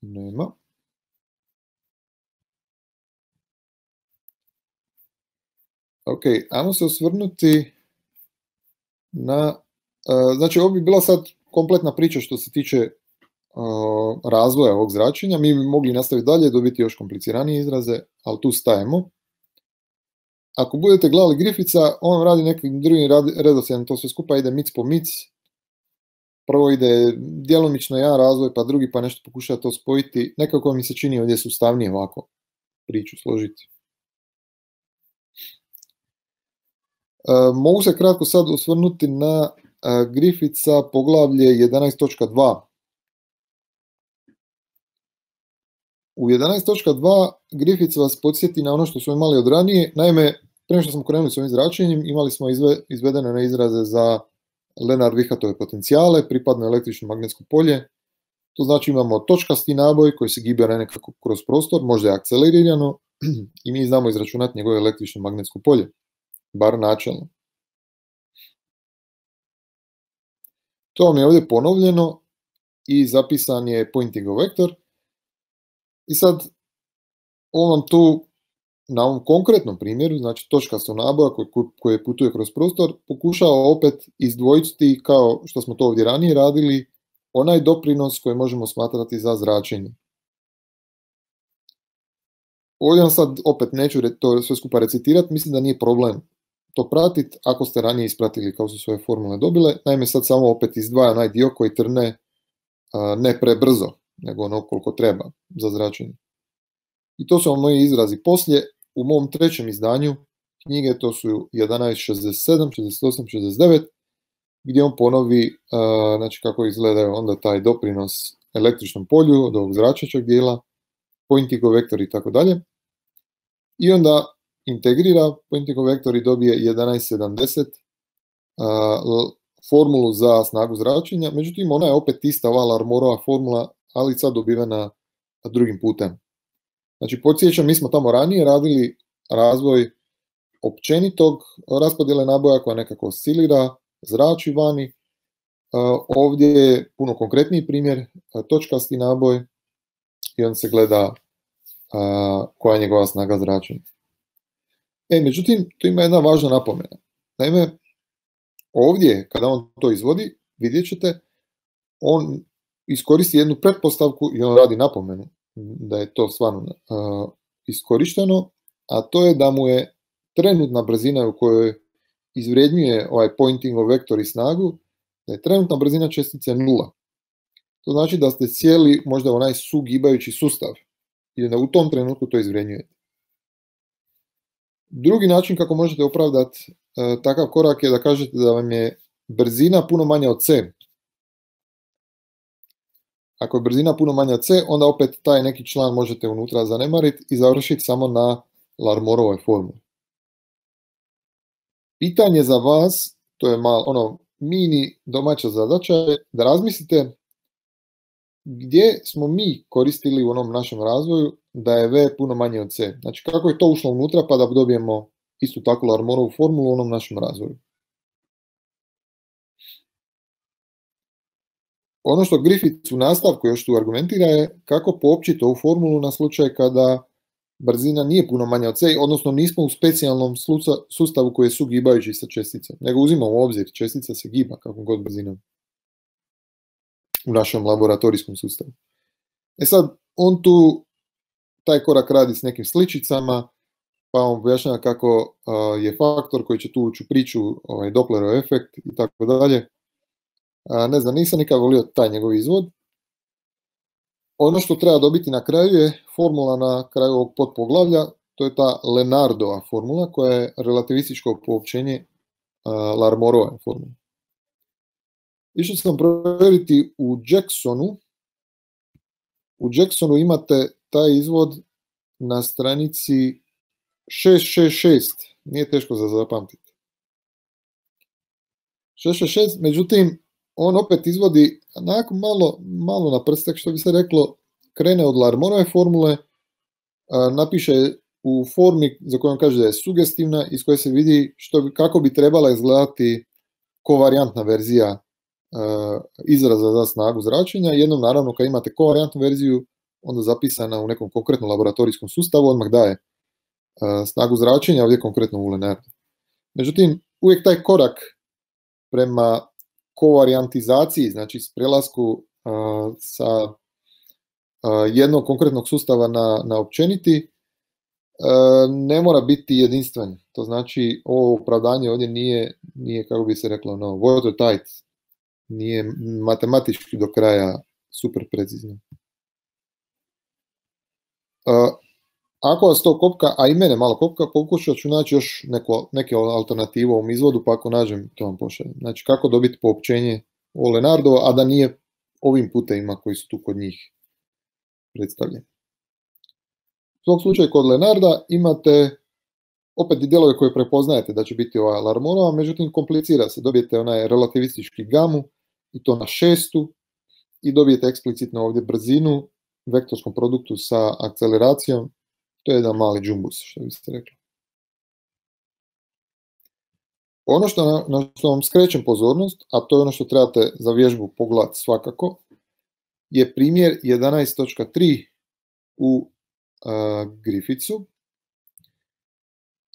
Nema. Ok, ajmo se osvrnuti na Znači, ovo bi bila sad kompletna priča što se tiče razvoja ovog zračenja. Mi bi mogli nastaviti dalje, dobiti još kompliciranije izraze, ali tu stajemo. Ako budete gledali Griffitha, on radi nekim drugim redoslijedom, to sve skupa ide mic po mic. Prvo ide djelomično jedan razvoj, pa drugi, pa nešto pokušava to spojiti. Nekako mi se čini ovdje sustavnije ovako priču složiti. Mogu se kratko sad osvrnuti na Griffitha poglavlje 11.2. U 11.2 Griffith vas podsjeti na ono što smo imali od ranije. Naime, prema što smo krenuli s ovim zračenjem, imali smo izvedene na izraze za Lenard-Vihatove potencijale, pripadno električno magnetsko polje. To znači imamo točkasti naboj koji se gibira nekako kroz prostor, možda je akcelerirano i mi znamo izračunati njegovo električno magnetsko polje, bar načelno. To vam je ovdje ponovljeno i zapisan je pointing vektor. I sad, on vam tu, na ovom konkretnom primjeru, znači točkastog naboja koji putuje kroz prostor, pokušava opet izdvojiti, kao što smo to ovdje ranije radili, onaj doprinos koji možemo smatrati za zračenje. Ovdje vam sad opet neću to sve skupa recitirati, mislim da nije problem to pratiti ako ste ranije ispratili kao su svoje formule dobile. Naime, sad samo opet izdvaja onaj dio koji trne ne prebrzo, nego ono koliko treba za zračenje. I to su moji izrazi poslije. U mom trećem izdanju knjige, to su 11.67, 68, 69, gdje on ponovi znači kako izgleda onda taj doprinos električnom polju od ovog zračećeg dijela, pointing vektor i tako dalje. I onda integrira pointing vektor i dobije 11.70 formulu za snagu zračenja, međutim ona je opet ista ova Larmorova formula, ali sad dobivena drugim putem. Znači, podsjećam, mi smo tamo ranije radili razvoj općenitog raspodjele naboja koja nekako oscilira, zrači vani. Ovdje je puno konkretniji primjer, točkasti naboj i on se gleda koja je njegova snaga zračenja. Međutim, tu ima jedna važna napomena. Naime, ovdje, kada on to izvodi, vidjet ćete, on iskoristi jednu pretpostavku i on radi napomenu da je to stvarno iskorišteno, a to je da mu je trenutna brzina u kojoj izvrednjuje ovaj pointing vektor i snagu, da je trenutna brzina čestice 0. To znači da ste cijeli možda onaj sugibajući sustav i da u tom trenutku to izvrednjujete. Drugi način kako možete opravdati takav korak je da kažete da vam je brzina puno manja od c. Ako je brzina puno manja od c, onda opet taj neki član možete unutra zanemariti i završiti samo na Larmorovoj formuli. Pitanje za vas, to je malo mini domaća zadaća, je da razmislite gdje smo mi koristili u onom našem razvoju da je v puno manje od c. Znači kako je to ušlo unutra pa da dobijemo istu takvu Larmorovu formulu u onom našem razvoju. Ono što Griffith u nastavku još tu argumentira je kako poopćiti ovu formulu na slučaj kada brzina nije puno manja od c, odnosno nismo u specijalnom sustavu koji je sugibajući sa česticom, nego uzimamo u obzir, čestica se giba kakvom god brzinom u našem laboratorijskom sustavu. Sad, on tu taj korak radi s nekim sličicama, pa on objašnjava kako je faktor koji će tu ući u priču, Dopplerov efekt i tako dalje. Ne znam, nisam nikad volio taj njegov izvod. Ono što treba dobiti na kraju je formula na kraju ovog podpoglavlja, to je ta Lenardova formula koja je relativističko poopćenje Larmorove formule. Išao sam provjeriti u Jacksonu. U Jacksonu imate taj izvod na stranici 666, nije teško za zapamtiti. 666, međutim, on opet izvodi onako malo na prstak, što bi se reklo, krene od Larmorove formule, napiše u formi za koju on kaže da je sugestivna, iz koje se vidi kako bi trebala izgledati kovarijantna verzija izraza za snagu zračenja. Jednom, naravno, kad imate kovarijantnu verziju, onda zapisana u nekom konkretnom laboratorijskom sustavu, odmah daje snagu zračenja, ovdje konkretno u Lenardu. Međutim, uvijek taj korak prema kovarijantizaciji, znači s prelasku sa jednog konkretnog sustava na općeniti, ne mora biti jedinstven. To znači, ovo opravdanje ovdje nije kako bi se reklo, watertight, nije matematički do kraja super precizno. Ako vas to kopka, a i mene malo kopka, pokušat ću naći još neke alternativu u ovom izvodu, pa ako nađem, to vam pošaljem. Znači, kako dobiti poopćenje o Leonardo, a da nije ovim putevima koji su tu kod njih predstavljeni. U svom slučaju kod Leonarda imate opet i dijelove koje prepoznajete da će biti ova Larmonova, međutim komplicira se. Dobijete onaj relativistički gamu i to na 6. i dobijete eksplicitno ovdje brzinu u vektorskom produktu sa akceleracijom. To je jedan mali džumbus, što biste rekli. Ono na što vam skrećem pozornost, a to je ono što trebate za vježbu pogledati svakako, je primjer 11.3 u Griffithu,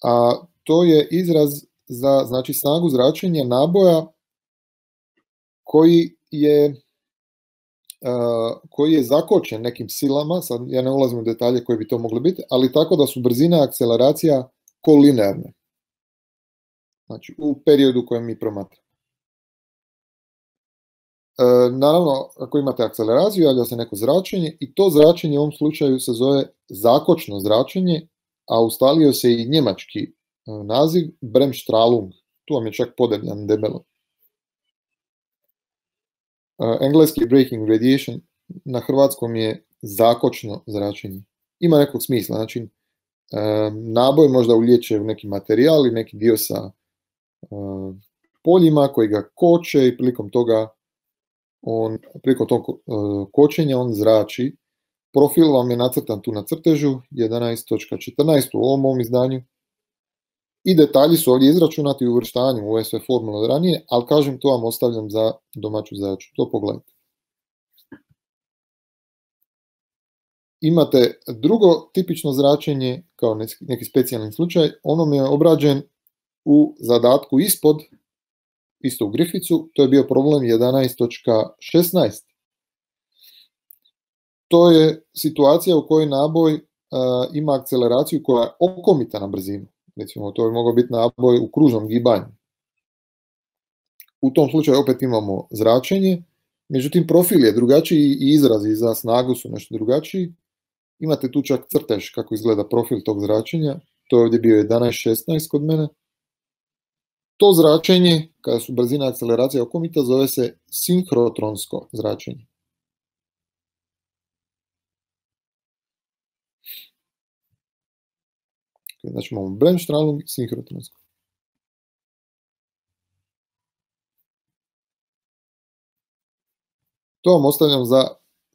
a to je izraz za, znači, snagu zračenja naboja koji je zakočen nekim silama, sad ja ne ulazim u detalje koji bi to mogli biti, ali tako da su brzina i akceleracija kolinearne. Znači, u periodu kojem mi promatramo. Naravno, ako imate akceleraciju, javlja se neko zračenje i to zračenje u ovom slučaju se zove zakočno zračenje, a ustalio se i njemački naziv Bremsstrahlung. Tu vam je čak podebljan debelo. Engleski breaking radiation, na hrvatskom je zakočno zračenje. Ima nekog smisla, znači naboj možda ulijeće u neki materijal i neki dio sa poljima koji ga koče i prilikom tog kočenja on zrači. Profil vam je nacrtan tu na crtežu 11.14 u ovom izdanju. I detalji su ovdje izračunati u uvrštavanju u sve formule od ranije, ali kažem, to vam ostavljam za domaću zadaću. To pogledajte. Imate drugo tipično zračenje, kao neki specijalni slučaj, ono mi je obrađen u zadatku ispod, isto u Griffithu, to je bio problem 11.16. To je situacija u kojoj naboj ima akceleraciju koja je okomita na brzinu. Recimo, to je mogao biti naboj u kružnom gibanju. U tom slučaju opet imamo zračenje, međutim profil je drugačiji i izrazi za snagu su nešto drugačiji. Imate tu čak crtež kako izgleda profil tog zračenja, to je ovdje bio 11.16 kod mene. To zračenje, kada su brzina i akceleracija okomita, zove se sinhrotronsko zračenje. Znači imamo Bremsstrahlung, sinhrotronsko. To vam ostavljam za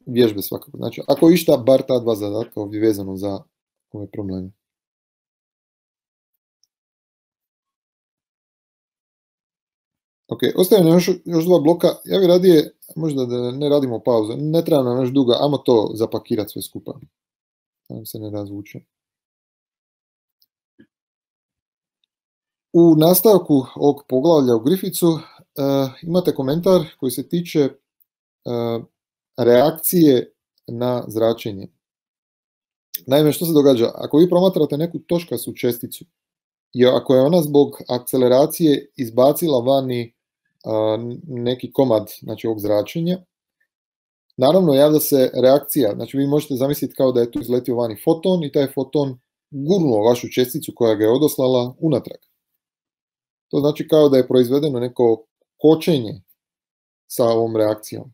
vježbe svakako. Znači, ako išta, bar ta dva zadatka ovdje vezano za ove probleme. Ok, ostaje nam još dva bloka. Ja bih radije, možda da ne radimo pauzu, ne treba nam još duga, ajmo to zapakirati sve skupa. Da nam se ne razvuče. U nastavku ovog poglavlja u Griffithu imate komentar koji se tiče reakcije na zračenje. Naime, što se događa? Ako vi promatrate neku točkastu česticu i ako je ona zbog akceleracije izbacila vani neki komad, znači, ovog zračenja, naravno javlja se reakcija. Znači, vi možete zamisliti kao da je tu izletio vani foton i taj foton gurnuo vašu česticu koja ga je odoslala unatrag. To znači kao da je proizvedeno neko kočenje sa ovom reakcijom.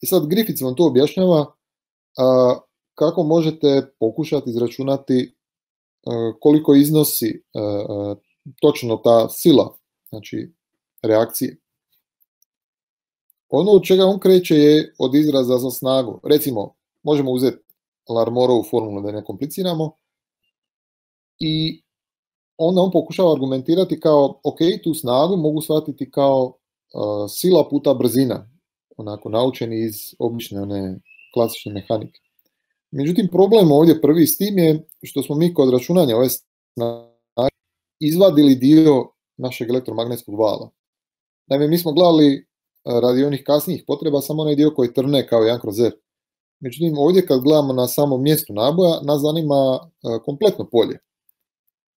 I sad Griffith vam to objašnjava kako možete pokušati izračunati koliko iznosi točno ta sila, znači reakcije. Ono od čega on kreće je od izraza za snagu. Recimo, možemo uzeti Larmorovu formulu da ne kompliciramo i onda on pokušava argumentirati kao, ok, tu snagu mogu shvatiti kao sila puta brzina, onako naučeni iz obične one klasične mehanike. Međutim, problem ovdje prvi s tim je što smo mi kod računanja ove snage izvadili dio našeg elektromagnetskog vala. Naime, mi smo gledali radi onih kasnijih potreba samo onaj dio koji trne kao 1/r. Međutim, ovdje kad gledamo na samom mjestu naboja, nas zanima kompletno polje.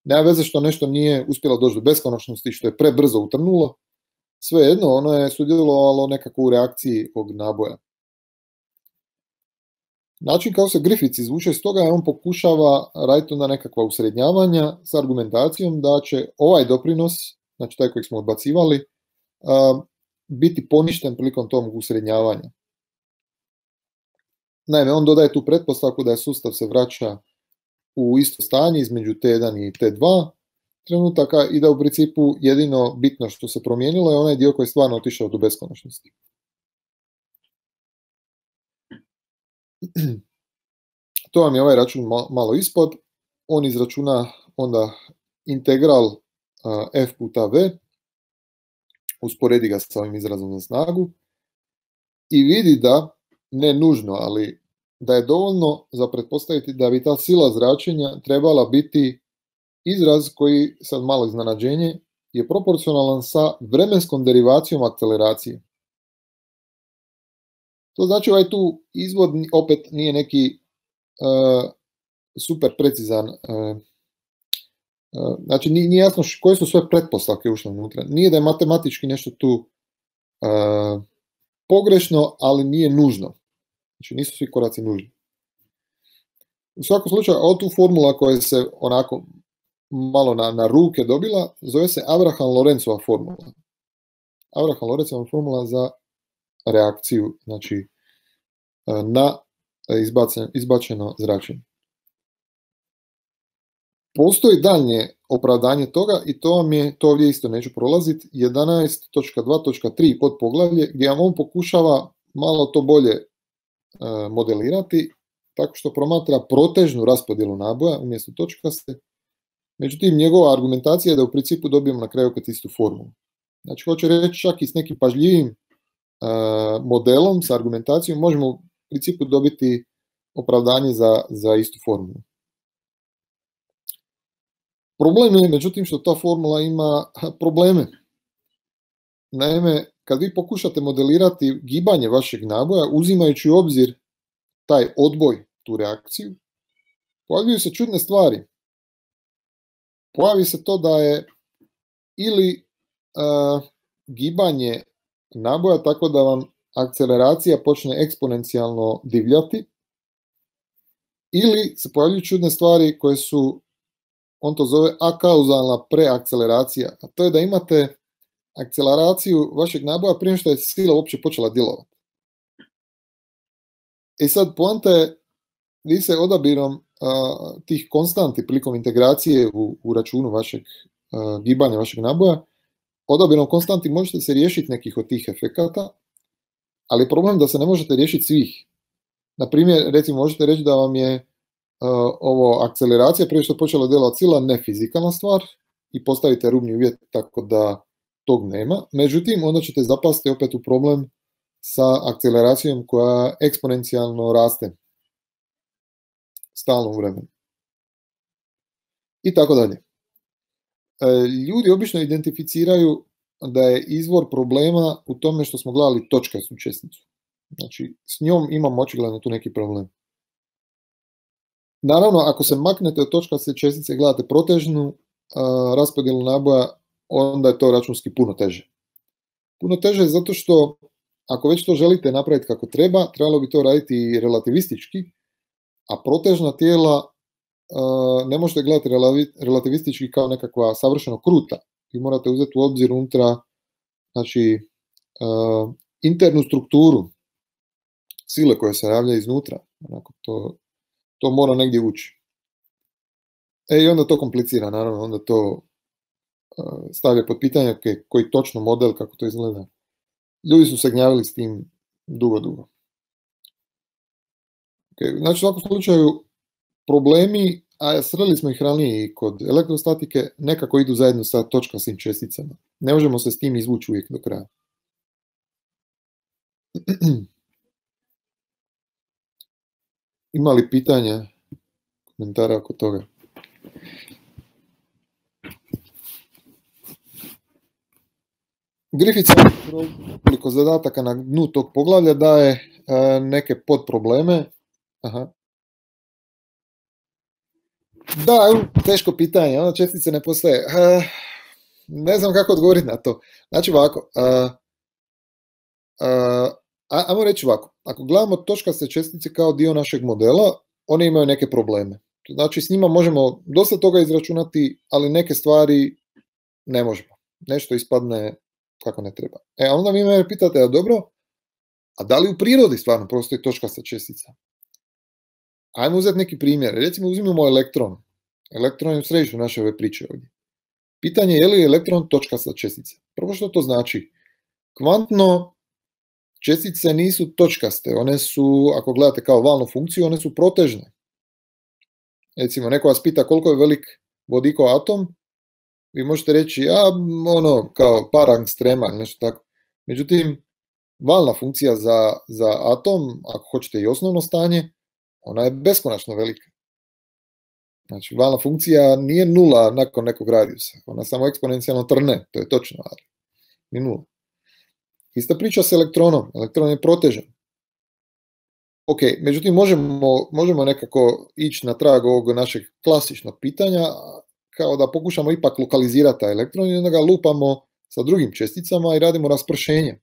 Nema veze što nešto nije uspjelo doći do beskonačnosti, što je prebrzo utrnulo, svejedno ono je sudjelovalo nekako u reakciji ovog naboja. Način kako se Griffiths izvuče iz toga je on pokušava raditi onda nekakva usrednjavanja s argumentacijom da će ovaj doprinos, znači taj koji smo odbacivali, biti poništen prilikom tog usrednjavanja. Naime, on dodaje tu pretpostavku da sustav se vraća u isto stanje između T1 i T2 trenutaka i da u principu jedino bitno što se promijenilo je onaj dio koji je stvarno otišao do beskonačnosti. To vam je ovaj račun malo ispod. On izračuna onda integral f puta v, usporedi ga sa ovim izrazom za snagu i vidi da, ne nužno, ali da je dovoljno za pretpostaviti da bi ta sila zračenja trebala biti izraz koji, sad malo iznenađenje, je proporcionalan sa vremenskom derivacijom akceleracije. To znači ovaj tu izvod opet nije neki super precizan, znači nije jasno koje su sve pretpostavke ušle unutra. Nije da je matematički nešto tu pogrešno, ali nije nužno. Znači nisu svi koraci nužni. U svakom slučaju, ova tu formula koja se onako malo na ruke dobila, zove se Abraham-Lorenzova formula. Abraham-Lorenzova formula za reakciju, znači na izbačeno zračenje. Postoji daljnje opravdanje toga i to vam je, to ovdje isto neću prolaziti, 11.2.3 podpoglavlje gdje vam on pokušava malo to bolje modelirati tako što promatra protežnu raspodjelu naboja umjesto točkaste. Međutim, njegova argumentacija je da u principu dobijemo na kraju opet istu formulu. Znači, hoće reći čak i s nekim pažljivim modelom, sa argumentacijom, možemo u principu dobiti opravdanje za istu formulu. Problem je, međutim, što ta formula ima probleme. Naime, kad vi pokušate modelirati gibanje vašeg naboja, uzimajući u obzir taj odboj, tu reakciju, pojavljuju se čudne stvari. Pojavi se to da je ili gibanje naboja tako da vam akceleracija počne eksponencijalno divljati, ili se pojavljuju čudne stvari koje su, on to zove akauzalna preakceleracija, a to je da imate akceleraciju vašeg naboja prije što je sila uopće počela djelovati. I sad poanta je, vi se odabirom tih konstanti prilikom integracije u računu vašeg gibanja vašeg naboja, odabirom konstanti možete se riješiti nekih od tih efekata, ali problem da se ne možete riješiti svih. Na primjer, recimo možete reći da vam je ovo akceleracija prije što je počela djelovati sila nefizikalna stvar i postavite rubni uvjet tako da tog nema. Međutim, onda ćete zapasti opet u problem sa akceleracijom koja eksponencijalno raste stalno u vremenu. I tako dalje. Ljudi obično identificiraju da je izvor problema u tome što smo gledali točkastu česticu. Znači, s njom imamo očigledno tu neki problem. Naravno, ako se maknete od točkaste čestice i gledate protežnu raspodjelu naboja, onda je to računski puno teže. Puno teže zato što ako već to želite napraviti kako treba, trebalo bi to raditi relativistički, a protežna tijela ne možete gledati relativistički kao nekakva savršeno kruta. Vi morate uzeti u obzir unutra, znači, internu strukturu sile koje se javlja iznutra. Onako, to mora negdje ući. I onda to komplicira, naravno, onda to stavlja pod pitanje koji točno model, kako to izgleda. Ljudi su se gnjavili s tim dugo. Znači, u svakom slučaju, problemi, a sreli smo ih ranije i kod elektrostatike, nekako idu zajedno sa točkastim česticama. Ne možemo se s tim izvući uvijek do kraja. Ima li pitanja, komentara oko toga? Grifica koliko zadataka na dnu tog poglavlja daje neke podprobleme. Aha. Da, teško pitanje, čestice ne postoje. Ne znam kako odgovoriti na to. Znači ovako, ajmo reći ovako, ako gledamo točkaste čestice kao dio našeg modela, one imaju neke probleme. Znači s njima možemo dosta toga izračunati, ali neke stvari ne možemo. Nešto ispadne kako ne treba. A onda vi me pitate, a dobro, a da li u prirodi stvarno postoji točkasta čestica? Ajmo uzeti neki primjer. Recimo uzmimo elektron. Elektron je u središtu naše ove priče ovdje. Pitanje je li elektron točkasta čestica. Prvo što to znači? Kvantno čestice nisu točkaste. One su, ako gledate kao valnu funkciju, one su protežne. Recimo, neko vas pita koliko je velik vodikov atom, vi možete reći, kao par angstrema ili nešto tako. Međutim, valna funkcija za atom, ako hoćete i osnovno stanje, ona je beskonačno velika. Znači, valna funkcija nije nula nakon nekog radijusa. Ona samo eksponencijalno trne, to je točno, ali ni nula. Ista priča s elektronom. Elektron je protežen. Ok, međutim, možemo nekako ići na trag ovog našeg klasičnog pitanja, kao da pokušamo ipak lokalizirati taj elektron i onda ga lupamo sa drugim česticama i radimo raspršenje.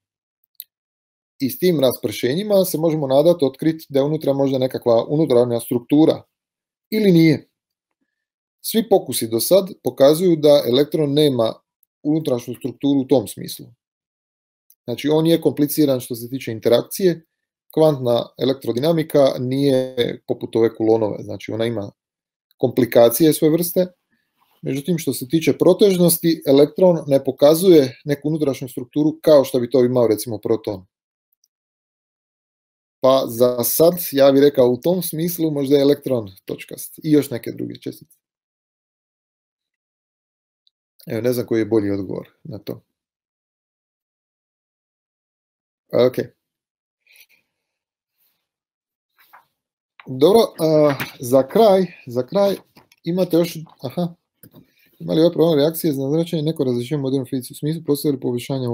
I s tim raspršenjima se možemo nadati otkriti da je unutra možda nekakva unutarnja struktura ili nije. Svi pokusi do sad pokazuju da elektron nema unutrašnju strukturu u tom smislu. Znači, on je kompliciran što se tiče interakcije. Kvantna elektrodinamika nije poput ove kulonove, znači ona ima komplikacije svoje vrste. Međutim, što se tiče protežnosti, elektron ne pokazuje neku unutrašnju strukturu kao što bi to imao recimo proton. Pa za sad, ja bih rekao u tom smislu, možda je elektron točkast i još neke druge čestice. Evo, ne znam koji je bolji odgovor na to. Ok. Dobro, za kraj imate još, ima li ove problem reakcije za zračenje neko različenje modernu fizici u smislu postoje li poboljšanja?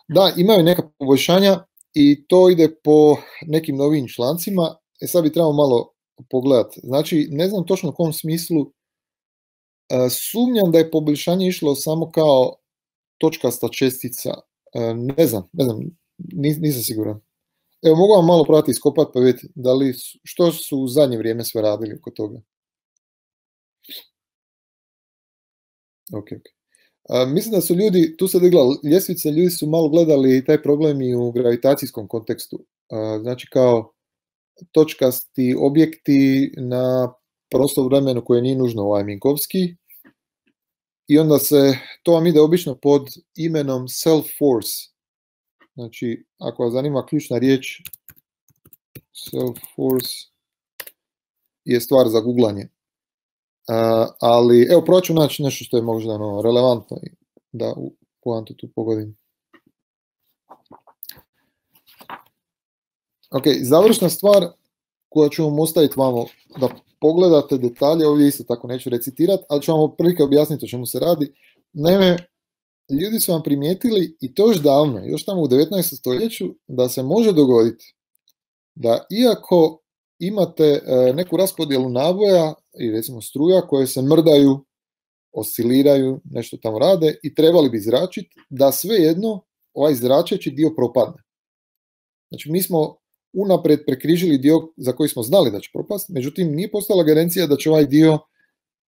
Da, imaju neka poboljšanja i to ide po nekim novim člancima. Sad bi trebalo malo pogledati. Znači, ne znam točno u kom smislu, sumnjam da je poboljšanje išlo samo kao točkasta čestica. Ne znam, nisam siguran. Evo, mogu vam malo probati iskopati pa vidjeti što su u zadnje vrijeme sve radili oko toga. Ok. Mislim da su ljudi, tu se digla ljestvica, ljudi su malo gledali taj problem i u gravitacijskom kontekstu. Znači kao točkasti objekti na prostoru vremenu koje nije nužno Minkowski. I onda to vam ide obično pod imenom self-force. Znači, ako vas zanima ključna riječ, self-force je stvar za googlanje. Ali, evo, probat ću naći nešto što je možda relevantno da u poantu tu pogodim. Ok, završna stvar koja ću vam ostaviti vamo da pogledate detalje, ovdje isto tako neću recitirati, ali ću vam otprilike objasniti o čemu se radi. Naime, ljudi su vam primijetili, i to još davno, još tamo u 19. stoljeću, da se može dogoditi da iako imate neku raspodjelu naboja i recimo struja koje se mrdaju, osciliraju, nešto tamo rade i trebali bi zračiti, da svejedno ovaj zračeći dio propadne. Znači mi smo unaprijed prekrižili dio za koji smo znali da će propasti, međutim nije postala garancija da će ovaj dio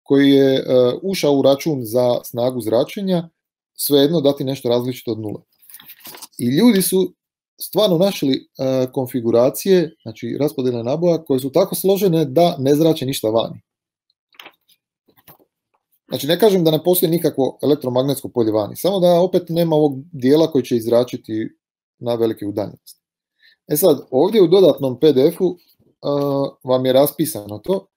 koji je ušao u račun za snagu zračenja svejedno dati nešto različito od nule. I ljudi su stvarno našli konfiguracije, znači raspodjele naboja koje su tako složene da ne zrače ništa vani. Znači ne kažem da ne postoji nikakvo elektromagnetsko polje vani, samo da opet nema ovog dijela koji će izračiti na velike udaljenosti. Sad, ovdje u dodatnom PDF-u vam je raspisano to.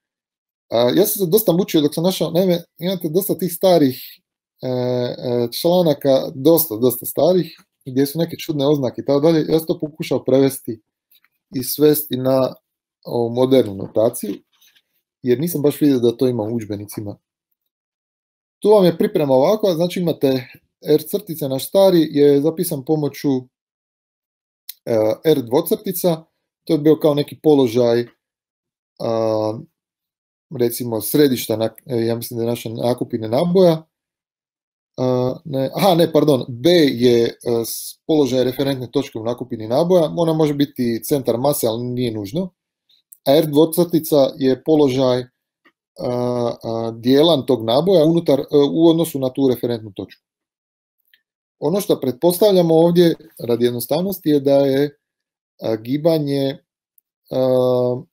Ja sam se dosta mučio dok sam našao, naime, imate dosta tih starih članaka, dosta starih, gdje su neke čudne oznake i tako dalje. Ja sam to pokušao prevesti i svesti na ovu modernu notaciju, jer nisam baš vidio da to ima u udžbenicima. Tu vam je priprema ovako, znači imate R crtica naš stari je zapisan pomoću R dvocrtica, to je bio kao neki položaj recimo središta, ja mislim da je naša nakupine naboja, B je položaj referentne točke u nakupini naboja, ona može biti centar mase, ali nije nužno, a R dvocrtica je položaj dijelan tog naboja u odnosu na tu referentnu točku. Ono što pretpostavljamo ovdje radi jednostavnosti je da je gibanje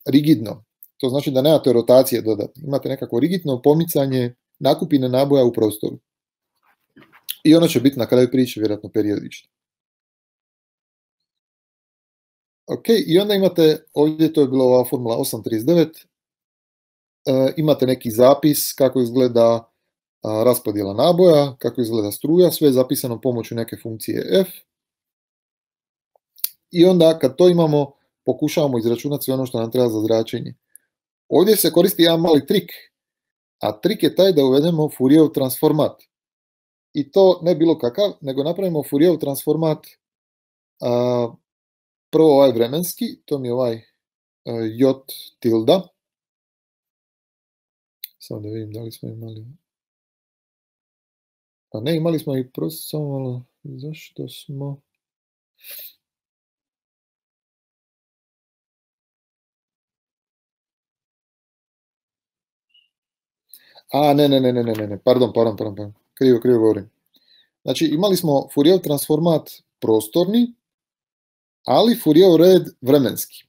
rigidno. To znači da nemate rotacije dodatne. Imate nekako rigidno pomicanje nakupine naboja u prostoru. I ono će biti na kraju priče vjerojatno periodično. Ok, i onda imate, ovdje to je bila ova formula 839, imate neki zapis kako izgleda raspodjela naboja, kako izgleda struja, sve je zapisano pomoću neke funkcije f. I onda kad to imamo, pokušavamo izračunati sve ono što nam treba za zračenje. Ovdje se koristi jedan mali trik, a trik je taj da uvedemo Fourierov transformat. I to ne bilo kakav, nego napravimo Fourierov transformat, prvo ovaj vremenski, to mi je ovaj J tilda. Samo da vidim da li smo imali... A ne, imali smo i prosto, samo malo, zašto smo... Ne, pardon, krivo govorim. Znači, imali smo Fourierov transformat prostorni, ali Fourierov red vremenski.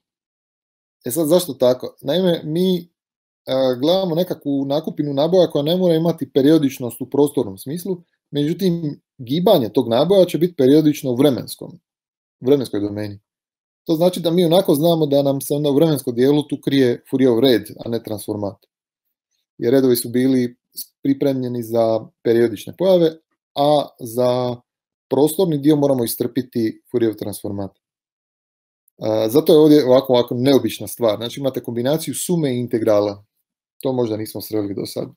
Sad, zašto tako? Naime, mi gledamo nekakvu nakupinu naboja koja ne mora imati periodičnost u prostornom smislu, međutim, gibanje tog naboja će biti periodično u vremenskoj domeni. To znači da mi onako znamo da nam se onda u vremenskom dijelu tu krije Fourierov red, a ne transformat. Jer redovi su bili pripremljeni za periodične pojave, a za prostorni dio moramo istrpiti Fourierov transformat. Zato je ovdje ovako neobična stvar. Znači imate kombinaciju sume i integrala. To možda nismo sreli do sad.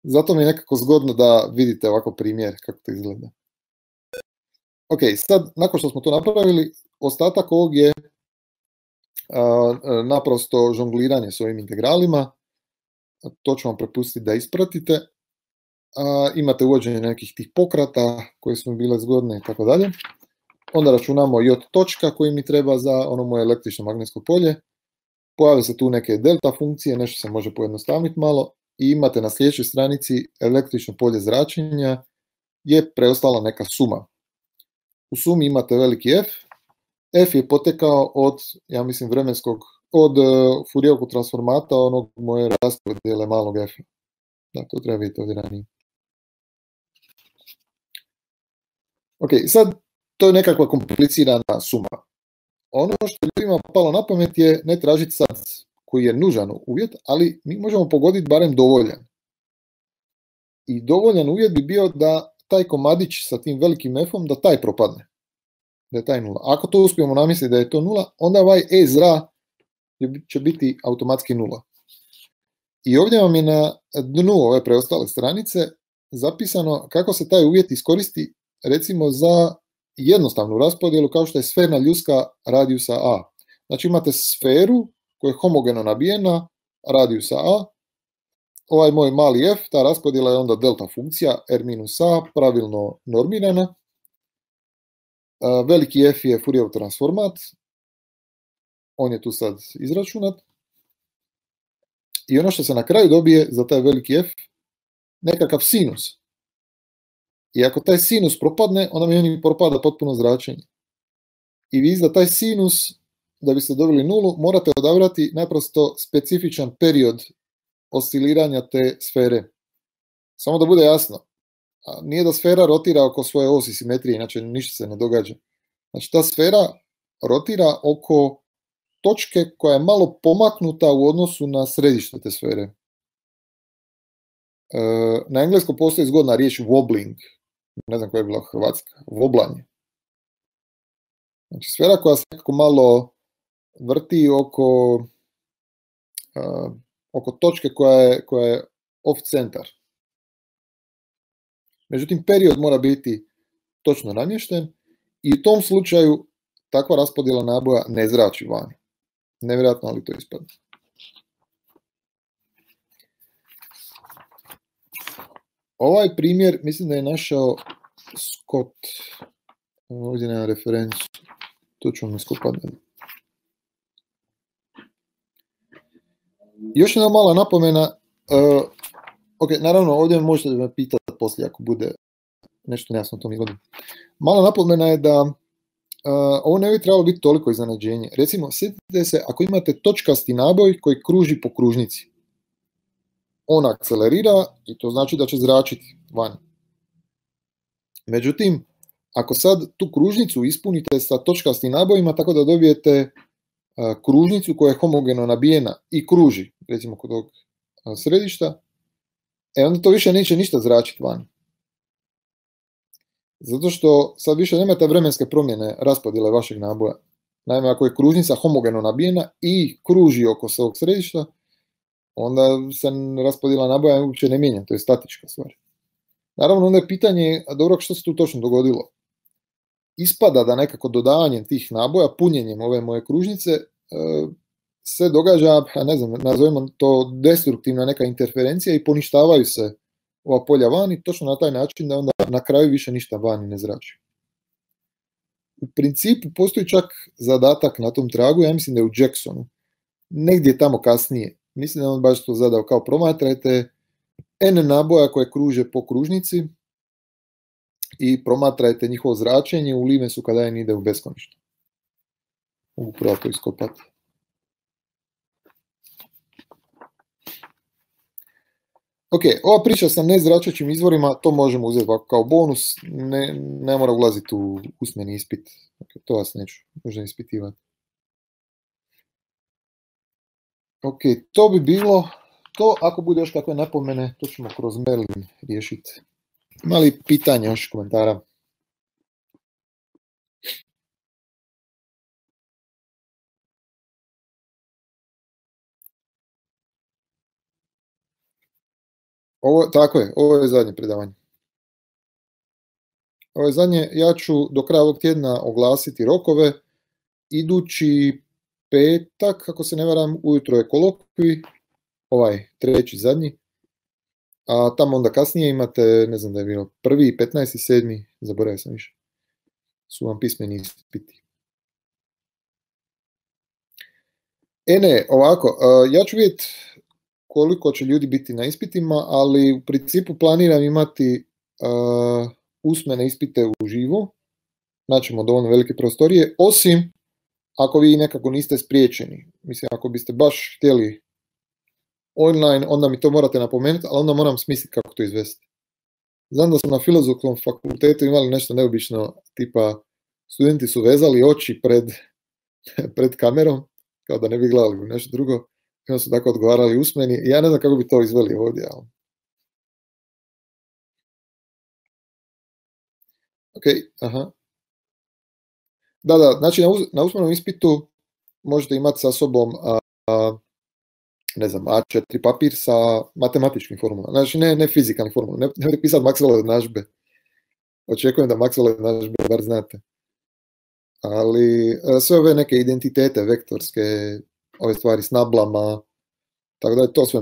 Zato mi je nekako zgodno da vidite ovako primjer kako to izgleda. Ok, sad nakon što smo to napravili, ostatak ovog je naprosto žongliranje s ovim integralima. To ću vam prepustiti da ispratite. Imate uvođenje nekih tih pokrata koje su mi bile zgodne i tako dalje. Onda računamo J točka koji mi treba za ono moje električno magnetsko polje. Pojave se tu neke delta funkcije, nešto se može pojednostaviti malo. I imate na sljedećoj stranici električno polje zračenja je preostala neka suma. U sumi imate veliki F. F je potekao od, ja mislim, od Fourierovog transformata, onog moje raspodjele malog F. Da, to treba vidjeti ovdje ranije. Ok, sad to je nekakva komplicirana suma. Ono što ljudima palo na pamet je ne tražiti sad koji je nužan uvjet, ali mi možemo pogoditi barem dovoljan. I dovoljan uvjet bi bio da taj komadić sa tim velikim F-om, da taj propadne. Da je taj nula. Ako to uspijemo namisliti da je to nula, onda ovaj E zra će biti automatski nula. I ovdje vam je na dnu ove preostale stranice zapisano kako se taj uvjet iskoristi recimo za jednostavnu raspodjelu kao što je sferna ljuska radijusa A. Znači imate sferu koja je homogeno nabijena radijusa A. Ovaj moj mali f, ta raspodjela je onda delta funkcija r-a pravilno normirana. Veliki f je Fourierov transformat. On je tu sad izračunat. I ono što se na kraju dobije za taj veliki f, nekakav sinus. I ako taj sinus propadne, onda mi propada potpuno zračenje. I vi za taj sinus, da biste dobili nulu, morate odabrati naprosto specifičan period osciliranja te sfere. Samo da bude jasno, nije da sfera rotira oko svoje osi simetrije, inače ništa se ne događa. Znači ta sfera rotira oko točke koja je malo pomaknuta u odnosu na središte te sfere. Na engleskom postoji zgodna riječ wobbling, ne znam koja je bila hrvatska, woblanje. Znači sfera koja se nekako malo vrti oko točke koja je off centar. Međutim, period mora biti točno namješten i u tom slučaju takva raspodjela naboja ne zrači vani. Nevjerojatno, ali to ispada. Ovaj primjer mislim da je našao Scott. Ovdje nema referencu. To ću vam iskopati. Još jedna mala napomena. Ok, naravno, ovdje možete me pitati poslije ako bude nešto nejasno o tom izvodu. Mala napomena je da ovo ne bi trebalo biti toliko iznenađenje. Recimo, sjetite se, ako imate točkasti naboj koji kruži po kružnici, on akcelerira i to znači da će zračiti van. Međutim, ako sad tu kružnicu ispunite sa točkastim nabojima tako da dobijete kružnicu koja je homogeno nabijena i kruži, recimo kod ovog središta, onda to više neće ništa zračiti van. Zato što sad više nemate vremenske promjene raspodjele vašeg naboja. Naime, ako je kružnica homogeno nabijena i kruži oko svog središta, onda se raspodjela naboja uopće ne mijenja, to je statička stvar. Naravno, onda je pitanje, dobro, što se tu točno dogodilo? Ispada da nekako dodavanjem tih naboja, punjenjem ove moje kružnice, se događa, ne znam, nazovemo to destruktivna neka interferencija i poništavaju se ova polja vani, točno na taj način da onda na kraju više ništa vani ne zrači. U principu postoji čak zadatak na tom tragu, ja mislim da je u Jacksonu, negdje tamo kasnije. Mislim da on baš to zadao kao promatrajte N naboja koje kruže po kružnici i promatrajte njihovo zračenje u limesu kada N ide u beskonačno. Mogu pravo to iskopati. Ok, ova priča sa nezračećim izvorima, to možemo uzeti kao bonus, ne mora ulaziti u usmeni ispit. Okay, to vas neću možda ispitivati. Ok, to bi bilo to. Ako bude još kakve napomene, to ćemo kroz mail riješiti. Ima li pitanja, još komentara? Tako je, ovo je zadnje predavanje. Ovo je zadnje, ja ću do kraja ovog tjedna oglasiti rokove. Idući petak, ako se ne varam, ujutro je kolokvij, ovaj treći zadnji, a tamo onda kasnije imate, ne znam da je bilo 1., 15., 7., zaboravio sam više, su vam pismeni ispiti. Ne, ovako, ja ću vidjeti koliko će ljudi biti na ispitima, ali u principu planiram imati usmene ispite uživo, naćemo dovoljno velike prostorije, osim ako vi nekako niste spriječeni. Mislim, ako biste baš htjeli online, onda mi to morate napomenuti, ali onda moram smisliti kako to izvesti. Znam da smo na Filozofskom fakultetu imali nešto neobično, tipa studenti su vezali oči pred kamerom, kao da ne bi gledali u nešto drugo, i onda su tako odgovarali usmeni. Ja ne znam kako bi to izveli ovdje. Ali... Ok, aha. Da, znači na usmenom ispitu možete imati sa sobom ne znam, A4 papir sa matematičkim formulama. Znači ne fizikalnim formulama, ne pisati Maxwellove jednadžbe. Očekujem da Maxwellove jednadžbe bar znate. Ali sve ove neke identitete vektorske, ove stvari s nablama, tako da je to sve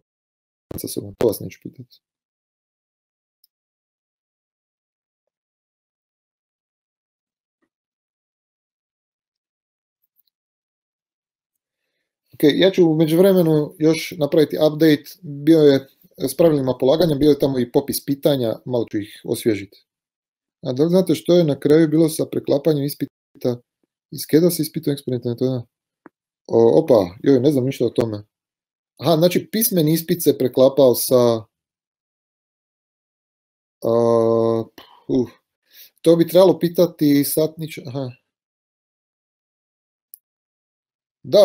sa sobom, to vas neću pitati. Ok, ja ću u međuvremenu još napraviti update, bio je s pravilima polaganja, bio je tamo i popis pitanja, malo ću ih osvježiti. A da li znate što je na kraju bilo sa preklapanjem ispita iz KEDA sa ispitom eksperimentalne metode? Opa, joj, ne znam ništa o tome. Aha, znači pismeni ispit se preklapao sa... to bi trebalo pitati Satnić... Aha. Da,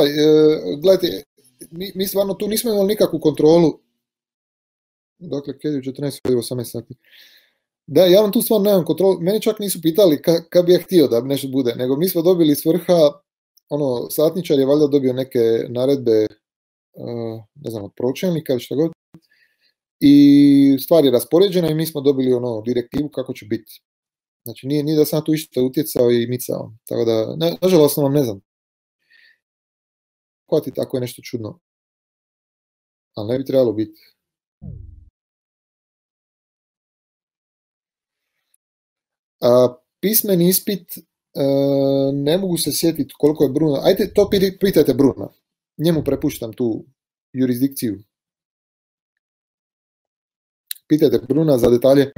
gledajte, mi stvarno tu nismo imali nikakvu kontrolu. Dakle, KED 14, 18 sati. Da, ja vam tu stvarno nemam kontrolu. Mene čak nisu pitali kad bi ja htio da nešto bude, nego mi smo dobili s vrha, satničar je valjda dobio neke naredbe, ne znam, od pročelnika ili šta god. I stvar je raspoređena i mi smo dobili direktivu kako će biti. Znači, nije da sam tu išta utjecao i micao. Tako da, nažalost vam ne znam. Hvati tako je nešto čudno. Ali ne bi trebalo biti. Pismeni ispit, ne mogu se sjetiti koliko je Bruno. Ajde, to pitajte Bruna. Njemu prepuštam tu jurisdikciju. Pitajte Bruna za detalje.